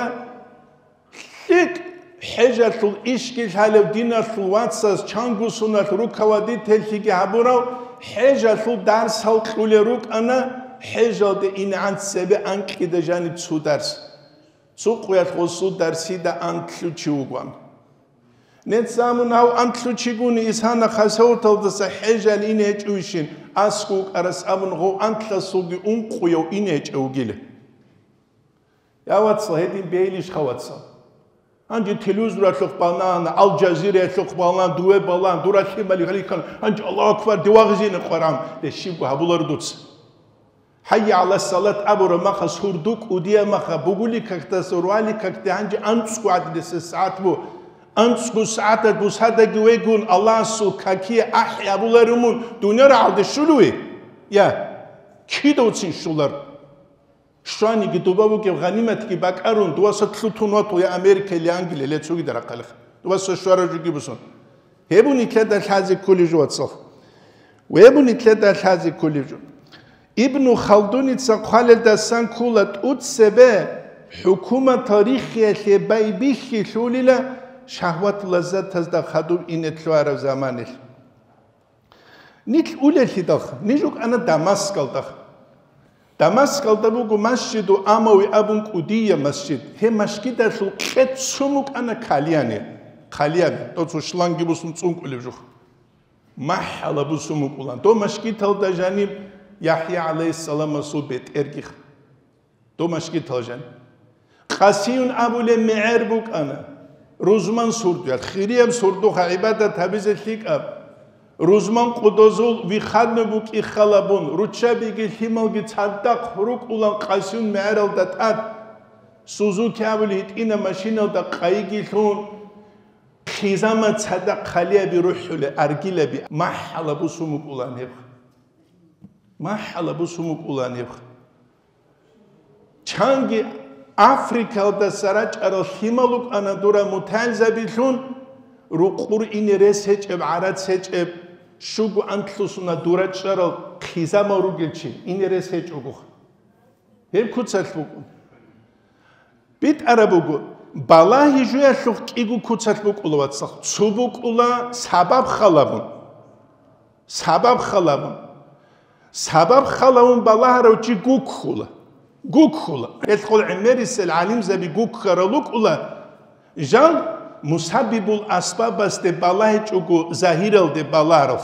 лъикӀ ХӀежалъул ишги лъалев диналъул вацас чанго суналъ руководительлъиги гьабурав, хӀежалъул дарсал кьулел рукӀана, хӀежалде инегӀан цебе анкьида жаниб цо дарс. Цо къуялъ гъосул дарсида анлъу чи вугоан. Нецамун гьав анлъу чигуни исана хасавталдаса хӀежал ине гьечӀевищин, аскӀов вукӀарас абун гъов анлъасулги ункъуяв ине гьечӀев вугила. Я, вацал, гьедин бейилищха, вацал? Гьанже телевизоралъухъ балагьана, Ал-Жазираялъухъ балагьана, дуве балагьана, дура лъимали гьалихьана, гьанже Аллагьу акбар, дивагъизене къваран, деш щибго гьабуларо дуца. ХӀайя гӀала салат абураб маха, сурду кӀудияб маха, бугули какдаса руали какде гьанже анцӀго гӀадилиса сагӀат бу. АнцӀго сагӀаталъ бусадаги вегун, Аллагьасул какие ахӀи гьабуларумун, дунъя рагӀалде щулуе? Я, кидавцин щулар. Щваниги дуба бугеб гъаниматги бакӀарун, дуваса лъутун вату я Америка или Англия, или цогида рахъалихъ. Дуваса щвара жуги бусун. Гьеб нилъеда лъазе кколеб жо, вацал. Гьеб нилъеда лъазе кколеб жо. Ибну Халдуница хъвалелдасан ккола тӀуцебе хӀукуматал риххиялъе байбихьилъулила шагьват-лаззатазда хадуб ине лъугьараб заманалъ. Нилъ улеллъидалха, ниж рукӀана Дамаскалда. Дамаскалда буго Масжиду Амави абун кӀудияб масжид. Гьеб масжидалъул кьецун букӀана кальяне, кальяне, дов цо шланги бусун цӀункӀулеб жух. МахӀала бусун букӀулан. Дов масжидалда жаниб ЯхӀя гӀалайгьиссаламасул бетӀергиха. Дов масжидал жан. Къасиюн абулеб мегӀер букӀана. Рузман сурдуял, хирияб сурдуха гӀибадат гьабизе лъикӀаб. Рузман къудозул вихадну букӀи халабун, руччабиги лъималги цадахъ рукӀулан къасиюн мегӀералда тӀад. Сузуки абулеб гьитӀина машиналда къайиги лъун, хъизамат цадахъ халиаби рухӀулеб, аргилаби, махӀала бусун букӀулан гьеб. МахӀала бусун букӀулан гьеб. Чанги Африкалдаса рачӀарал лъимал рукӀана дура мутагӀилзабилъун, рукъур ине рес гьечӀеб, гӀарац гьечӀеб, щуго анлъусуна дура чӀарал хъизамал ругел чи, ине рес гьечӀогоха. Гьеб куцалъ букӀун. БитӀараб буго, балагьи жуялъухъ кӀиго куцалъ букӀула, вацал. Цо букӀула сабаб халабун. Сабаб халавун. Сабаб халавун балагьарав чи гуккула. Гуккула. Гьелъул гӀемерисел гӀалимзаби гуккарал рукӀула, жал мусаббибул асбабасде балагьичӀого загьиралде балагьарал.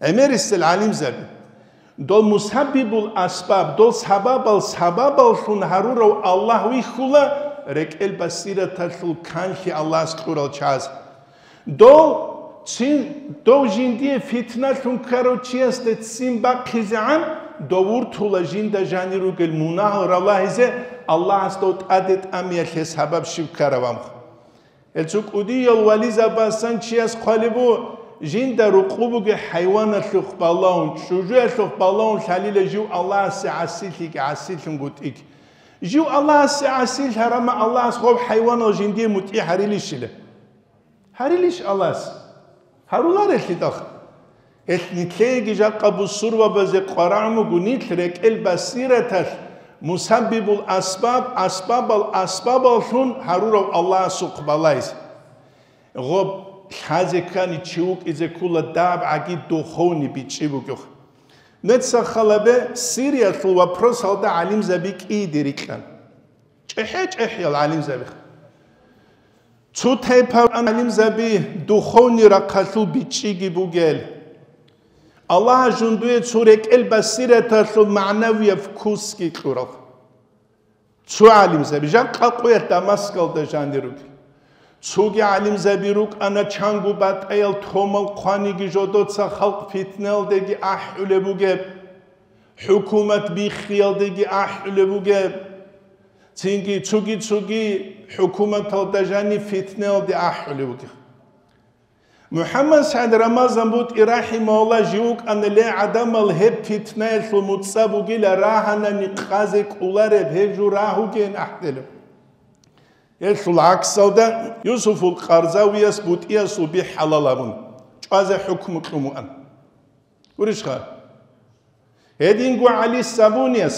ГӀемерисел гӀалимзаби. Дол мусаббибул асбаб, дол сабабал сабабаллъун гьарурав Аллагь вихьула, рекӀел басираталъул канлъи Аллагьас кьурал чияс. Дов цин, дов жиндие фитналъун ккарав чиясда ццин бахъизегӀан, дов вуртула жинда жанир ругел мунагьал ралагьизе Аллагьас дов тӀаде тӀамиялъе сабаб щиб ккараб амх. Гьел цо кӀудиял вализабасан чияс хъвалеб бу, жинда рукъу бугеб хӀайваналъухъ балагьун, чӀужуялъухъ балагьун лъалила жив Аллагьасе гӀасилъиги гӀасилъунгутӀиги. Жив Аллагьасе гӀасилъарама Аллагьас гъоб хӀайванал жиндие мутӀигӀ гьарилищила? Гьарилищ Аллагьас? Гьаруларелъидал. Гьелъ нилъееги жакъа бусурбабазе къварагӀун буго нилъ рекӀел басираталъ мусаббибул асбаб, асбабал асбабаллъун гьарурав Аллагьасухъ балайзе. Гъоб лъазе ккани чи вукӀизе ккула дабгӀаги духовный бичӀчӀи бугев. Нуца халабе Сириялъул вопросалда гӀалимзаби кӀийде рикьан. ЧӀехӀе-чӀехӀиял гӀалимзабиха. Цо тайпа гӀалимзаби духовный рахъалъул бичӀчӀиги бугел. Аллагьас жундуе цо рекӀел басираталъул магӀнавияб вкусги кьурал. Цо гӀалимзаби жакъа къоялъ Дамаскалда жанир ругел. Цоги гӀалимзаби рукӀана чанго батӀаял томал хъваниги жодоца халкъ фитналдеги ахӀулеб бугеб. ХӀукумат биххиялдеги ахӀулеб бугеб, цинги цоги-цоги хӀукуматалда жаниб фитнаялде ахӀулеб бугеб. МухӀаммад СагӀид Рамазан БутӀи рахӀимагьуллагь жив вукӀана, ле гӀадамал, гьеб фитнаялъул муцӀа бугила рагьанани къазе кӀолареб, гьеб жо рагьугейин ахӀделеб. Гьелъул гӀаксалда Юсуфул Къарзавияс БутӀиясул би хӀалал абун, чӀвазе хӀукму кьун вуан. Гурищха? Гьединго ГӀали Сабунияс,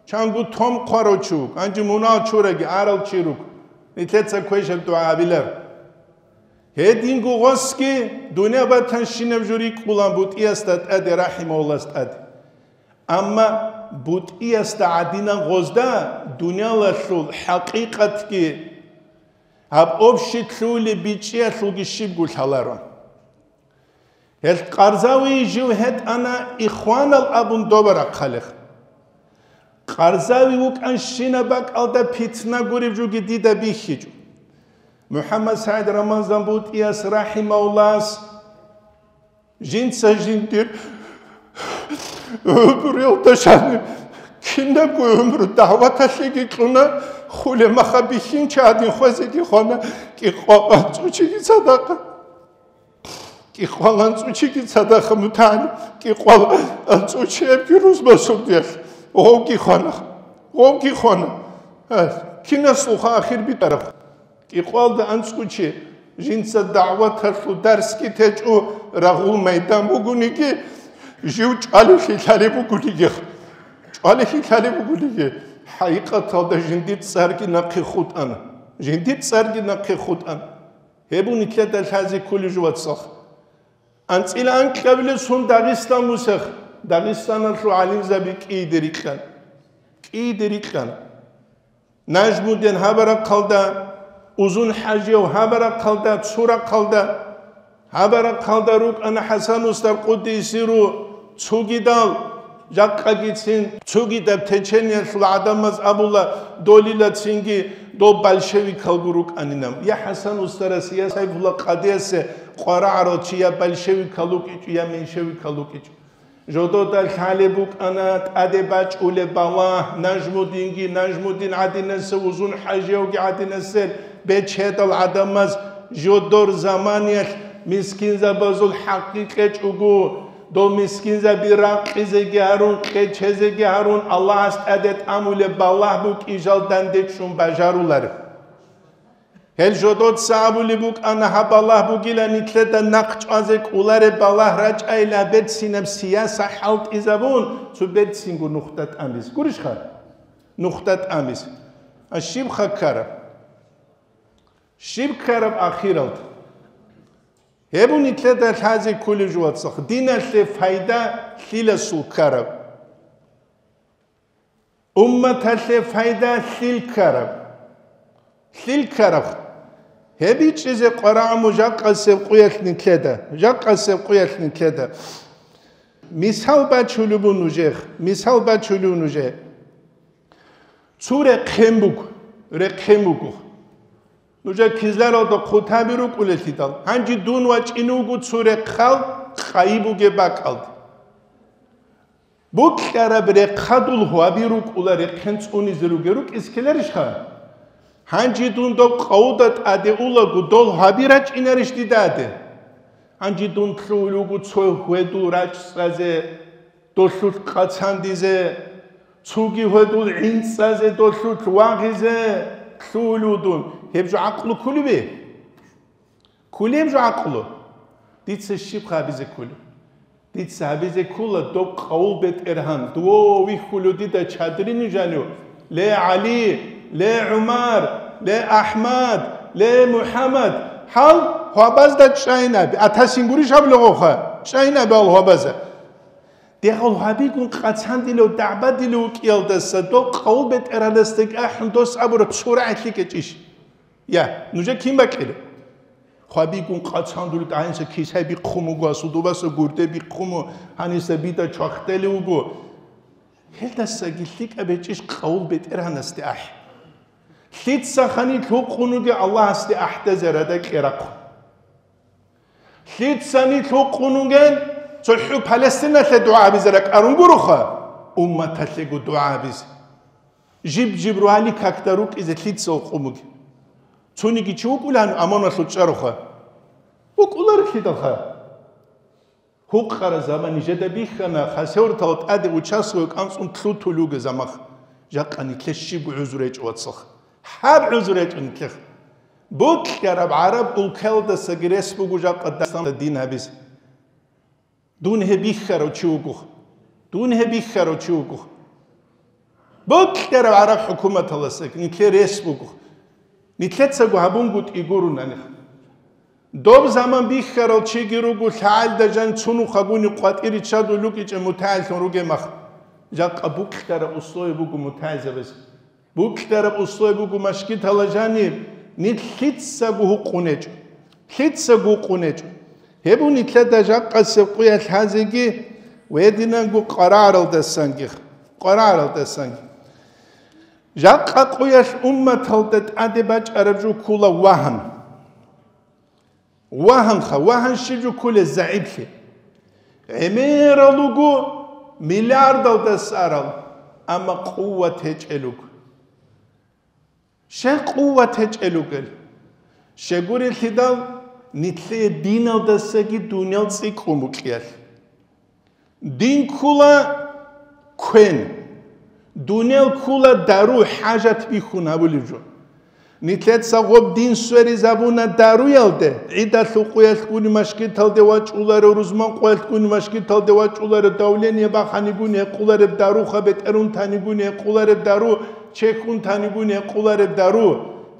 чанго том хъварав чи вуго, гьанже мунагь чураги арал чи руго. Нилъеца квешаб дугӀа абилар. Гьединго гъосги дунъя батанщинаб жо рикӀкӀулан бутӀиясда тӀаде, рахӀимагьуллас тӀаде. Амма бутӀиясда гӀадинан гъозда дунялалъул хӀакъикъатги гьаб общий лъугьулеб бичӀчӀиялъулги щибго лъаларо. Гьел Къарзавие жив гьетӀана ихванал абун доба рахъалех. Къарзави вукӀанщинаб бакӀалда питна гуреб жоги дида бихьичӀо. МухӀаммад СагӀид Рамазан БутӀияс рахӀимагьуллас жинца жиндир гӀумруялда жаниб кинабго гӀумру дагӀваталъеги кьуна, хуле маха бихьинчи гӀадин хвезеги хвана, кӀикъвал анцӀучиги цадахъ. КӀикъвал анцӀучиги цадахъ мутагӀил, кӀикъвал анцӀучиябги рузмасулдиялъ гъовги хвана, гъовги хвана. Гьа, кинасулха ахир битӀараб? КӀикъвалда анцӀучи жинца дагӀваталъул дарсги течӀо, рагъул майдан бугониги, жив чӀвалихьи лъалеб бугониги, чӀвалихьи лъалеб бугониги, хӀакъикъаталда жиндир цӀарги нахъе хутӀана, жиндир цӀарги нахъе хутӀана. Гьеб нилъеда лъазе кколеб жо, вацал. АнцӀила анкьабилеб сун Дагъистан бусех, Дагъистаналъул гӀалимзаби кӀийде рикьана. КӀийде рикьана. Нажмудин гьаб рахъалда, Узун-ХӀажияв гьаб рахъалда, цо рахъалда, гьаб рахъалда рукӀана ХӀасан устар къуддиса сирругьу, цогидал, жакъагицин цогидаб течениялъул гӀадамаз абула, долила цинги дол большевикалго рукӀанинан. Я ХӀасан устарасе, я Сайфулла къадиясе къварагӀарал чи, я большевикал вукӀичӀо, я меньшевикал вукӀичӀо. Жодода лъалеб букӀана тӀаде бачӀулеб балагь, Нажмудинги, Нажмудин гӀадинасел, Узун-ХӀажиявги гӀадинасел бечедал гӀадамаз, жодор заманиялъ мискинзабазул хӀакъги кьечӀого, дол мискинзаби ракъизеги гьарун, кьечезеги гьарун, Аллагьас тӀаде тӀамулеб балагь букӀин жал дандечӀун бажаруларо. Гьел жодоца абулеб букӀана, гьаб балагь бугилан нилъеда нахъ чӀвазе кӀолареб балагь рачӀайилан, берцинаб сияса хӀалтӀизабун, цо берцинго нухда тӀамизе. Гурищха? Нухда тӀамизе. А щибха ккараб? Щиб ккараб ахиралда? Гьеб нилъеда лъазе кколеб жо, вацал, диналъе пайда лъиласул ккараб? Умматалъе пайда лъил ккараб? Лъил ккараб? Гьеб бичӀчӀизе къварагӀму жакъасеб къуялъ нилъеда, жакъасеб къуялъ нилъеда. Мисал бачулеб буго нужехъ, мисал бачулеб нужехъ. Цо рехъен буго, рехъен буго. Нужер кизларалда хъутаби рукӀулелъидал, гьанже дун вачӀине вуго цо рехъал къайи бугеб бакӀалде. Букьараб рехъадул гьваби рукӀула, рехъен цӀунизе ругел рукӀизе ккеларищха? Гьанже дун доб къавуда тӀаде улаго, дол гьваби рачӀинарищ дидаде? Гьанже дун лъугьул вуго цо гьведул рачӀцӀазе, долъулъ къацандизе, цоги гьведул гӀинцӀазе, долъулъ вагъизе лъугьул вуго дун. Гьеб жо гӀакълу кколеб? Кколеб жо гӀакълу? Дица щиб гьабизе кколеб? Дица гьабизе ккола доб къавул БетӀергьан, дов вихьулев дида чадринив жанив, ле ГӀали, ле ГӀумар, ле АхӀмад, ле МухӀаммад, гьал гьвабазда чӀайнаби, атасин гурищ гьаб лугъоха, чӀайнаби гьал гьвабаза. Дегъал гьабигун къацандилев, дагӀбадилев вукӀиялдаса дов къавул БетӀергьанасдаги ахӀун дос абураб цо рагӀи лъикӀ гьечӀищ? Я, нужер кин бакӀилеб? Хвабигун къацандулел гӀайинса кисай бихъун буго, асудубаса гурде бихъун буго, гьаниса бида чвахтели вуго. Гьелдасаги лъикӀаб гьечӀищ къавул БетӀергьанасде ахӀи? Лъица ханилъ гьукъун вугев Аллагьасде ахӀдазе рада кьерахъун? Лъица нилъ гьукъун вугел цохӀо Палестиналъе дугӀа гьабизе ракӀарун гуроха, умматалъего дугӀа гьабизе. Жиб-жиб ругьани какда рукӀизе лъица гьукъун бугеб? Цониги чи вукӀулаан амоналъул чӀароха? ВукӀуларелъидалха. Гьукъараб заман нижеда бихьана, хасавюртал тӀаде участковый кӀанцӀун лъутулев вугеб замах. Жакъа нилъер щибго гӀузру гьечӀо, вацалха. Гьаб гӀузру гьечӀо нилъер. Бокьараб гӀараб улкаялдасаги рес буго жакъа Дагъистаналда дин гьабизе. Дун гьеб бихьарав чи вуго. Дун гьеб бихьарав чи вуго. Бокьараб гӀараб хӀукуматалдасаги нилъер рес буго. Нилъецаго гьабунгутӀи гурунаниха. Доб заман бихьарал чиги руго, лъагӀалда жан цунухъагуни къватӀире чадулукӀичӀеб мутагӀиллъун ругеб мах. Жакъа букьараб условие буго мутагӀилзабаз. Букьараб условие буго машгитала жаниб, нилъ лъицаго гьукъунечӀо. Лъицаго гьукъунечӀо. Гьеб нилъеда жакъасеб къуялъ гьазеги ва гьединанго къварагӀаралдасанги. КъварагӀаралдасанги. Жакъа къуялъ умматалда тӀаде бачӀараб жо ккула вагьан. Вагьанха, вагьан щиб жо ккулеб? ЗагӀиплъи. ГӀемерал руго, миллиардалдаса арал, амма къуват гьечӀел руго. Щай къуват гьечӀел ругел? Щегурелъидал, нилъее диналдасаги дуниял цӀикӀкӀун букӀиялъ. Дин ккула квен, дуниял ккула дару, хӀажат бихьун гьабулеб жо. Нилъеца гъоб дин сверизабуна даруялде, гӀидалъул къуялъгуни машгиталде вачӀуларо, рузман къуялъгуни машгиталде вачӀуларо, давление баханигуни гьекъулареб даруха, бетӀерун танигуни гьекъулареб дару, чехьун танигуни гьекъулареб дару.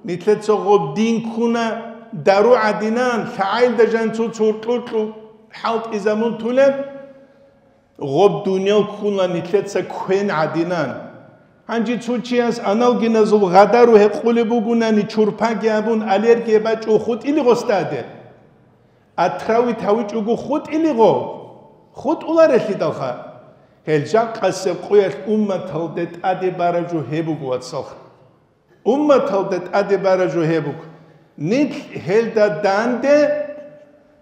Нилъеца гъоб дин ккуна дару гӀадинан, лъагӀалда жан цо-цо гьоркьор-кьор хӀалтӀизабун тулеб. Гъоб дуниял ккула нилъеца квен гӀадинан. Гьанже цо чияс аналгиназул гъадару гьекъулеб бугунани, чурпаги абун, аллергия бачӀун хутӀилигъо стаде. Отравить гьавичӀого хутӀилигъо. ХутӀуларелъидалха. Гьел жакъасеб къуялъ умматалде тӀаде бараб жо гьеб буго, вацалха. Умматалда тӀаде бараб жо гьеб буго. Нилъ гьелда данде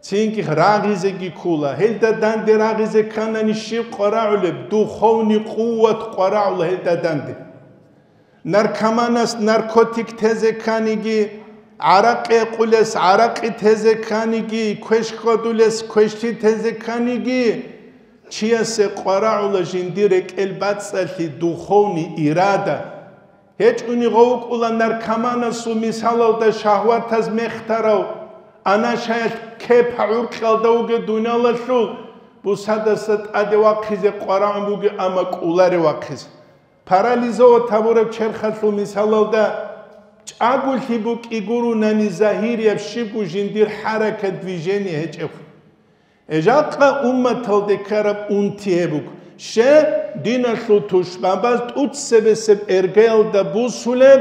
цинги рагъизеги ккула. Гьелда данде рагъизе кканани щиб къварагӀулеб? Духовный къуват къварагӀула гьелда данде. Наркоманас наркотик тезе кканиги, гӀаракъи гьекъулес гӀаракъи тезе кканиги, квеш хьвадулес квешлъи тезе кканиги, чиясе къварагӀула жиндир рекӀел бацӀцӀалъи, духовный ирада. ГьечӀони гъов вукӀула наркоманасул мисалалда шагьватаз мехтарав, анашаялъ кепа гӀуркьалда вугев дуниялалъул, бусадаса тӀаде вахъизе къварагӀун бугев, амма кӀоларев вахъизе. Парализовать гьабураб черхалъул мисалалда чӀаголъи букӀи гурунани загьирияб щибго жиндир хӀаракат, движение гьечӀеб. Жакъа умматалде ккараб унти гьеб буго. Щай? Диналъул тушбабаз тӀуцебесеб эргаялда бусулеб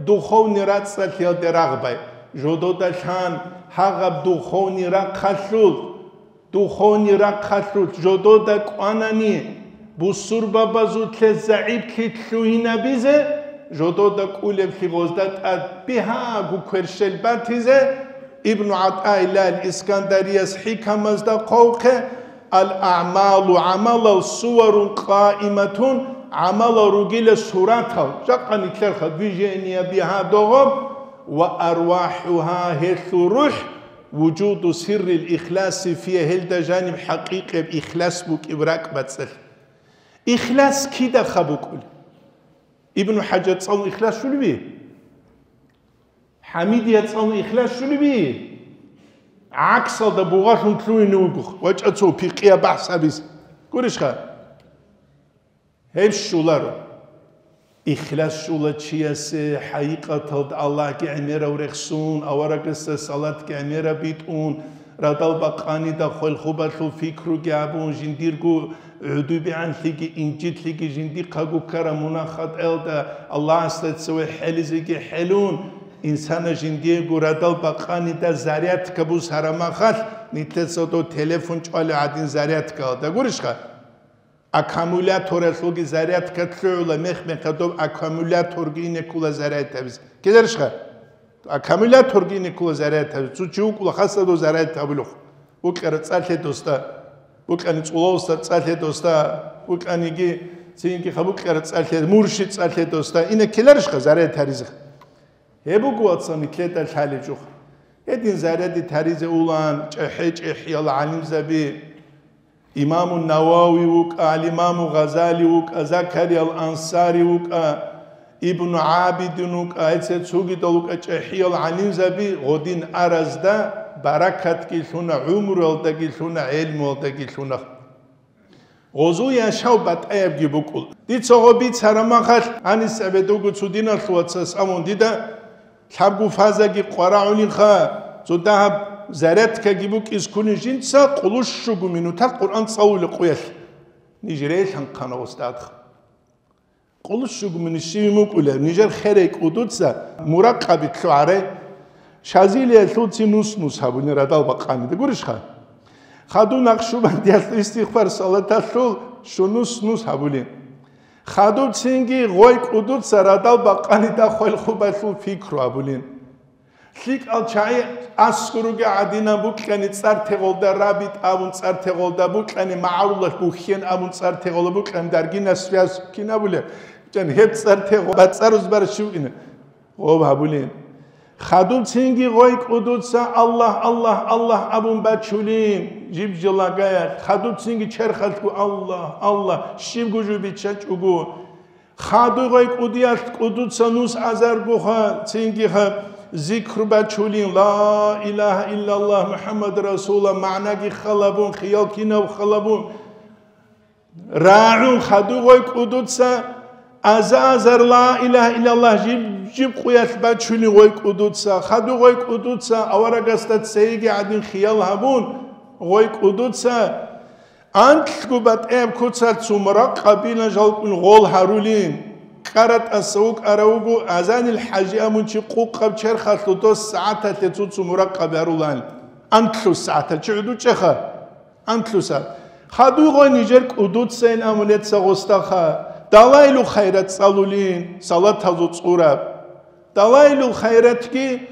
духовный рацӀцӀалъиялде рагъбай. Жододалъан гьагъаб духовный рахъалъул, духовный рахъалъул жодода кӀванани, бусурбабазулъе загӀиплъи лъугьинабизе, жодода кӀулеблъи гъозда тӀад бигьаго кверщел батизе, Ибну ГӀатаиллагь ал-Искандарияс хӀикамазда хъвавухъе: «Ал-аъмалу», гӀамалал, «суварун къаиматун», гӀамалал ругила суратал, жакъа нилъерха движение бигьа догъоб, «ва арвахӀугьа», гьелъул рухӀ, «вужуду сиррил ихласи фия», гьелда жаниб хӀакъикъияб ихлас букӀиб ракӀбацӀцӀалъ. Ихлас кидаха букӀулеб? Ибну ХӀажар цӀалун ихлас щулеби? ХӀамидия цӀалун ихлас щулеби? ГӀаксалда бугъалъун лъугьине вуго, вачӀа цо пикъияб бахӀс гьабизе. Гурищха? Гьеб щоларо. Ихлас щола чиясе хӀакъикъаталда Аллагьги гӀемерав рехсун, аварагасда салатги гӀемераб битӀун, радал бакъанида хвалхубалъул пикруги гьабун, жиндирго гӀодобегӀанлъиги инжитлъиги жиндихъаго ккараб мунагь-хатӀаялда Аллагьасда цеве хӀелизеги хӀелун, инсана жиндиего радал бакъанида зарядка бусараб махалъ, нилъеца дов телефон чӀвалев гӀадин зарядкаялда. Гурищха? Аккумуляторалъулги зарядка лъугӀула, мех-мехалъ доб аккумуляторги ине ккола заряд гьабизе. Кидарищха? Аккумуляторги ине ккола заряд гьабизе. Цо чи вукӀула хасадо заряд гьабулев. БукӀараб цӀа лъе досда. БукӀани цӀулавсда цӀа лъе досда. БукӀаниги цинги ха букӀараб цӀа лъе, мурши цӀа лъе досда. Ине ккеларищха заряд гьаризе? Гьеб буго, вацал, нилъеда лъалеб жо. Гьедин заряди таризе улан, чӀехӀе-чӀехӀиял гӀалимзаби, Имаму Навави вукӀа, ал-Имаму Гъазали вукӀа, Закариял Ансари вукӀа, Ибну ГӀабидин вукӀа, гьеца цогидал вукӀа чӀехӀиял гӀалимзаби, гъодин аразда баракатги лъуна, гӀумруялдаги лъуна, гӀелмуялдаги лъуна. Гъозул яшав батӀаябги букӀула. Дица гъо бицараб махалъ, гьанис гӀебедуго цо диналъул вацас абун дида, Лъабго фазаги къварагӀулинха, цо дагьаб зарядкаги букӀиз ккунин жинца, къулущуго минутал Къуръан цӀалулеб къуялъ. Ниж релъанхъана устадха. Къулущуго минут щиб мукӀулеб, нижер херай кӀудуца муракъаби лъугӀарай. Шазилиялъулцин нус-нус гьабулин радал бакъанида, гурищха? Хадуб Накъшубандиялъул истигъфар салаталъул щунус-нус гьабулин. Хадуб цинги гъой кӀудуца радал бакъанида хвел хубалъул пикру гьабулин. ЛъикӀал чагӀи аскӀоруги гӀадинаб букьани цӀар тегъолда рабит абун цӀар тегъолда букьани магӀарулалъ бухьен абун цӀар тегъола букьани даргина связь кин абулеб? Чан гьеб цӀар тегъо бацӀарус барщив ина? Гъоб гьабулин. Хадуб цинги гъой кӀудуца Аллагь, Аллагь, Аллагь абун бачулин, жиб-жо лагаялъ. Хадуб цинги черхалъго Аллагь, Аллагь, щибго жо биччачӀого. Хадуб гъой кӀудиялъ кӀудуца нус азаргоха, цингиха зикру бачулин, Ла илагьа иллаллагь МухӀаммад расулуллагь, магӀнаги халабун, хиял кинаб халабун. РагӀун хадуб гъой кӀудуца аза-азар ла илагьа иллаллагь жиб-жиб къуялъ бачунин гъой кӀудуца, хадуб гъой кӀудуца аварагасда цейги гӀадин хиял гьабун гъой кӀудуца, анлъго батӀияб куцалъ цо муракъабилан жалкӀун гъол гьарулин. КӀаратӀаса вукӀарав вуго Азанил ХӀажи абун чи къукъаб черхалъул дос сагӀаталъе цо-цо муракъаби гьарулан. Анлъго сагӀаталъ чи гӀодов чӀеха? Анлъго сагӀат. Хадуб гъой нижер кӀудуцайин абун гьеца гъосдаха, Далаилул хайрат цӀалулин, салатазул цӀураб. Далаилул хайратги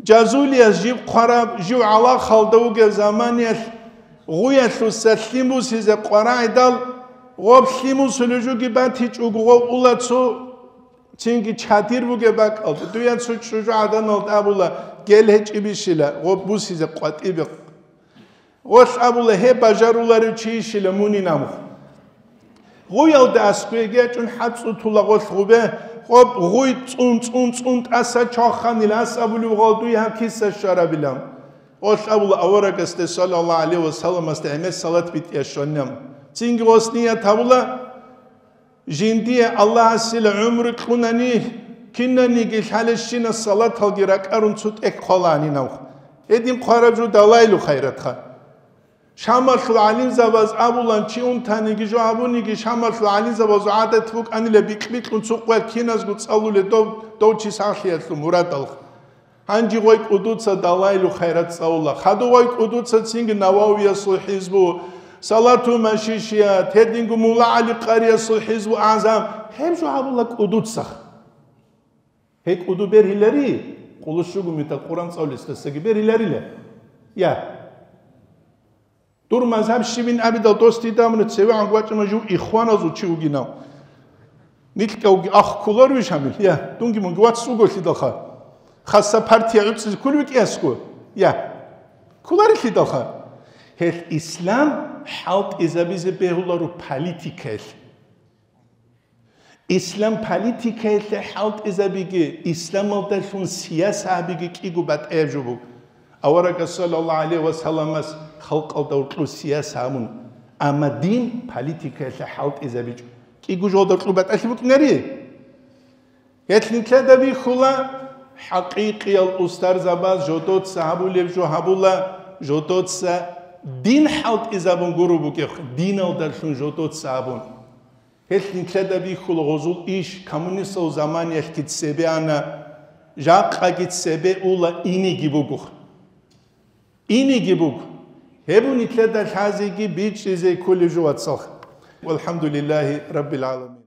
жазулияс жиб хъвараб, жив гӀалахалда вугев заманиялъ гъуялъуса лъим бусизе къварагӀидал, гъоб лъим бусулев жуги батичӀого гъов ула цо цинги чадир бугеб бакӀалда, дуе цо чӀужугӀаданалда абула, гел гьечӀебищила, гъоб бусизе къватӀибе. Гъолъ абула, гьеб бажаруларев чийищила мунин абун. Гъуялда аскӀовеги ячӀун хӀацӀцӀутула гъолъ гъубе, гъоб гъуй цӀун-цӀун-цӀун тӀаса чваханила, ас абулев гъал дуй гьаб киса щварабилан. Гъолъ абула аварагасде, саллаллагьу гӀалайгьи ва салламасда, гӀемер салат битӀиялъ щванилан. Цинги гъос ният гьабула, Жиндие Аллагьасила гӀумру кьунани, кинаниги лъалещина салаталги ракӀарун цо тӀехь хъвалаанин абун. Гьедин хъвараб жо далайилу хайратха. Шамалъул гӀалимзабаз абулан, чи унтаниги жо гьабуниги, Шамалъул гӀалимзабазул гӀадат букӀанила бикь-бикьун цо къвер киназго цӀалуле дов, дов чи сахлъиялъул мурадалха. Гьанже гъой кӀудуца далайилу хайрат цӀалула. Хадув гъой кӀудуца цинги Нававиясул хӀизбу, Салату Машишият, гьединго Мулла ГӀали Къариясул хӀизбу агӀзам, гьеб жо гьабула кӀудуцах. Гьей кӀуду бергьилари, къулущугу мета Къуран цӀалулесдасаги бергьиларила. Я. Дур мазгьаб щибин абидал дос дида муна цевегӀан вачӀана жив ихваназул чи вугинав. Нилъ кӀавги ахъ кколарвищ гьамил? Я, дунги мунги вац вуголъидалха. Хасса партия гӀуцӀизе кколев витӀиясго? Я. Кколарелъидалха. Гьелъ ислам хӀалтӀизабизе бегьуларо политикаялъ. Ислам политикаялъе хӀалтӀизабиги, исламалдалъун сияса гьабиги кӀиго батӀияб жо буго. Аварагас саллаллагьу гӀалайгьи ва салламас халкъалда гьоркьоб сияса гьабун, амма дин политикаялъе хӀалтӀизабичӀо. КӀиго жолда кьу батӀалъи букӀинари? Гьелъ нилъеда бихьула, хӀакъикъиял устарзабаз жодоца гьабулеб жо гьабула, жодоца дин хӀалтӀизабун гуро бугеб, диналдалъун жодоца абун. Гьелъ нилъеда бихьула гъозул иш, коммунистал заманиялъги цебе ана, жакъаги цебе ула, иниги буго. Иниги буго. Гьеб нилъеда лъазеги бичӀчӀизе кколеб жо, вацал. Валхамдулиллагьи раббил гӀаламин.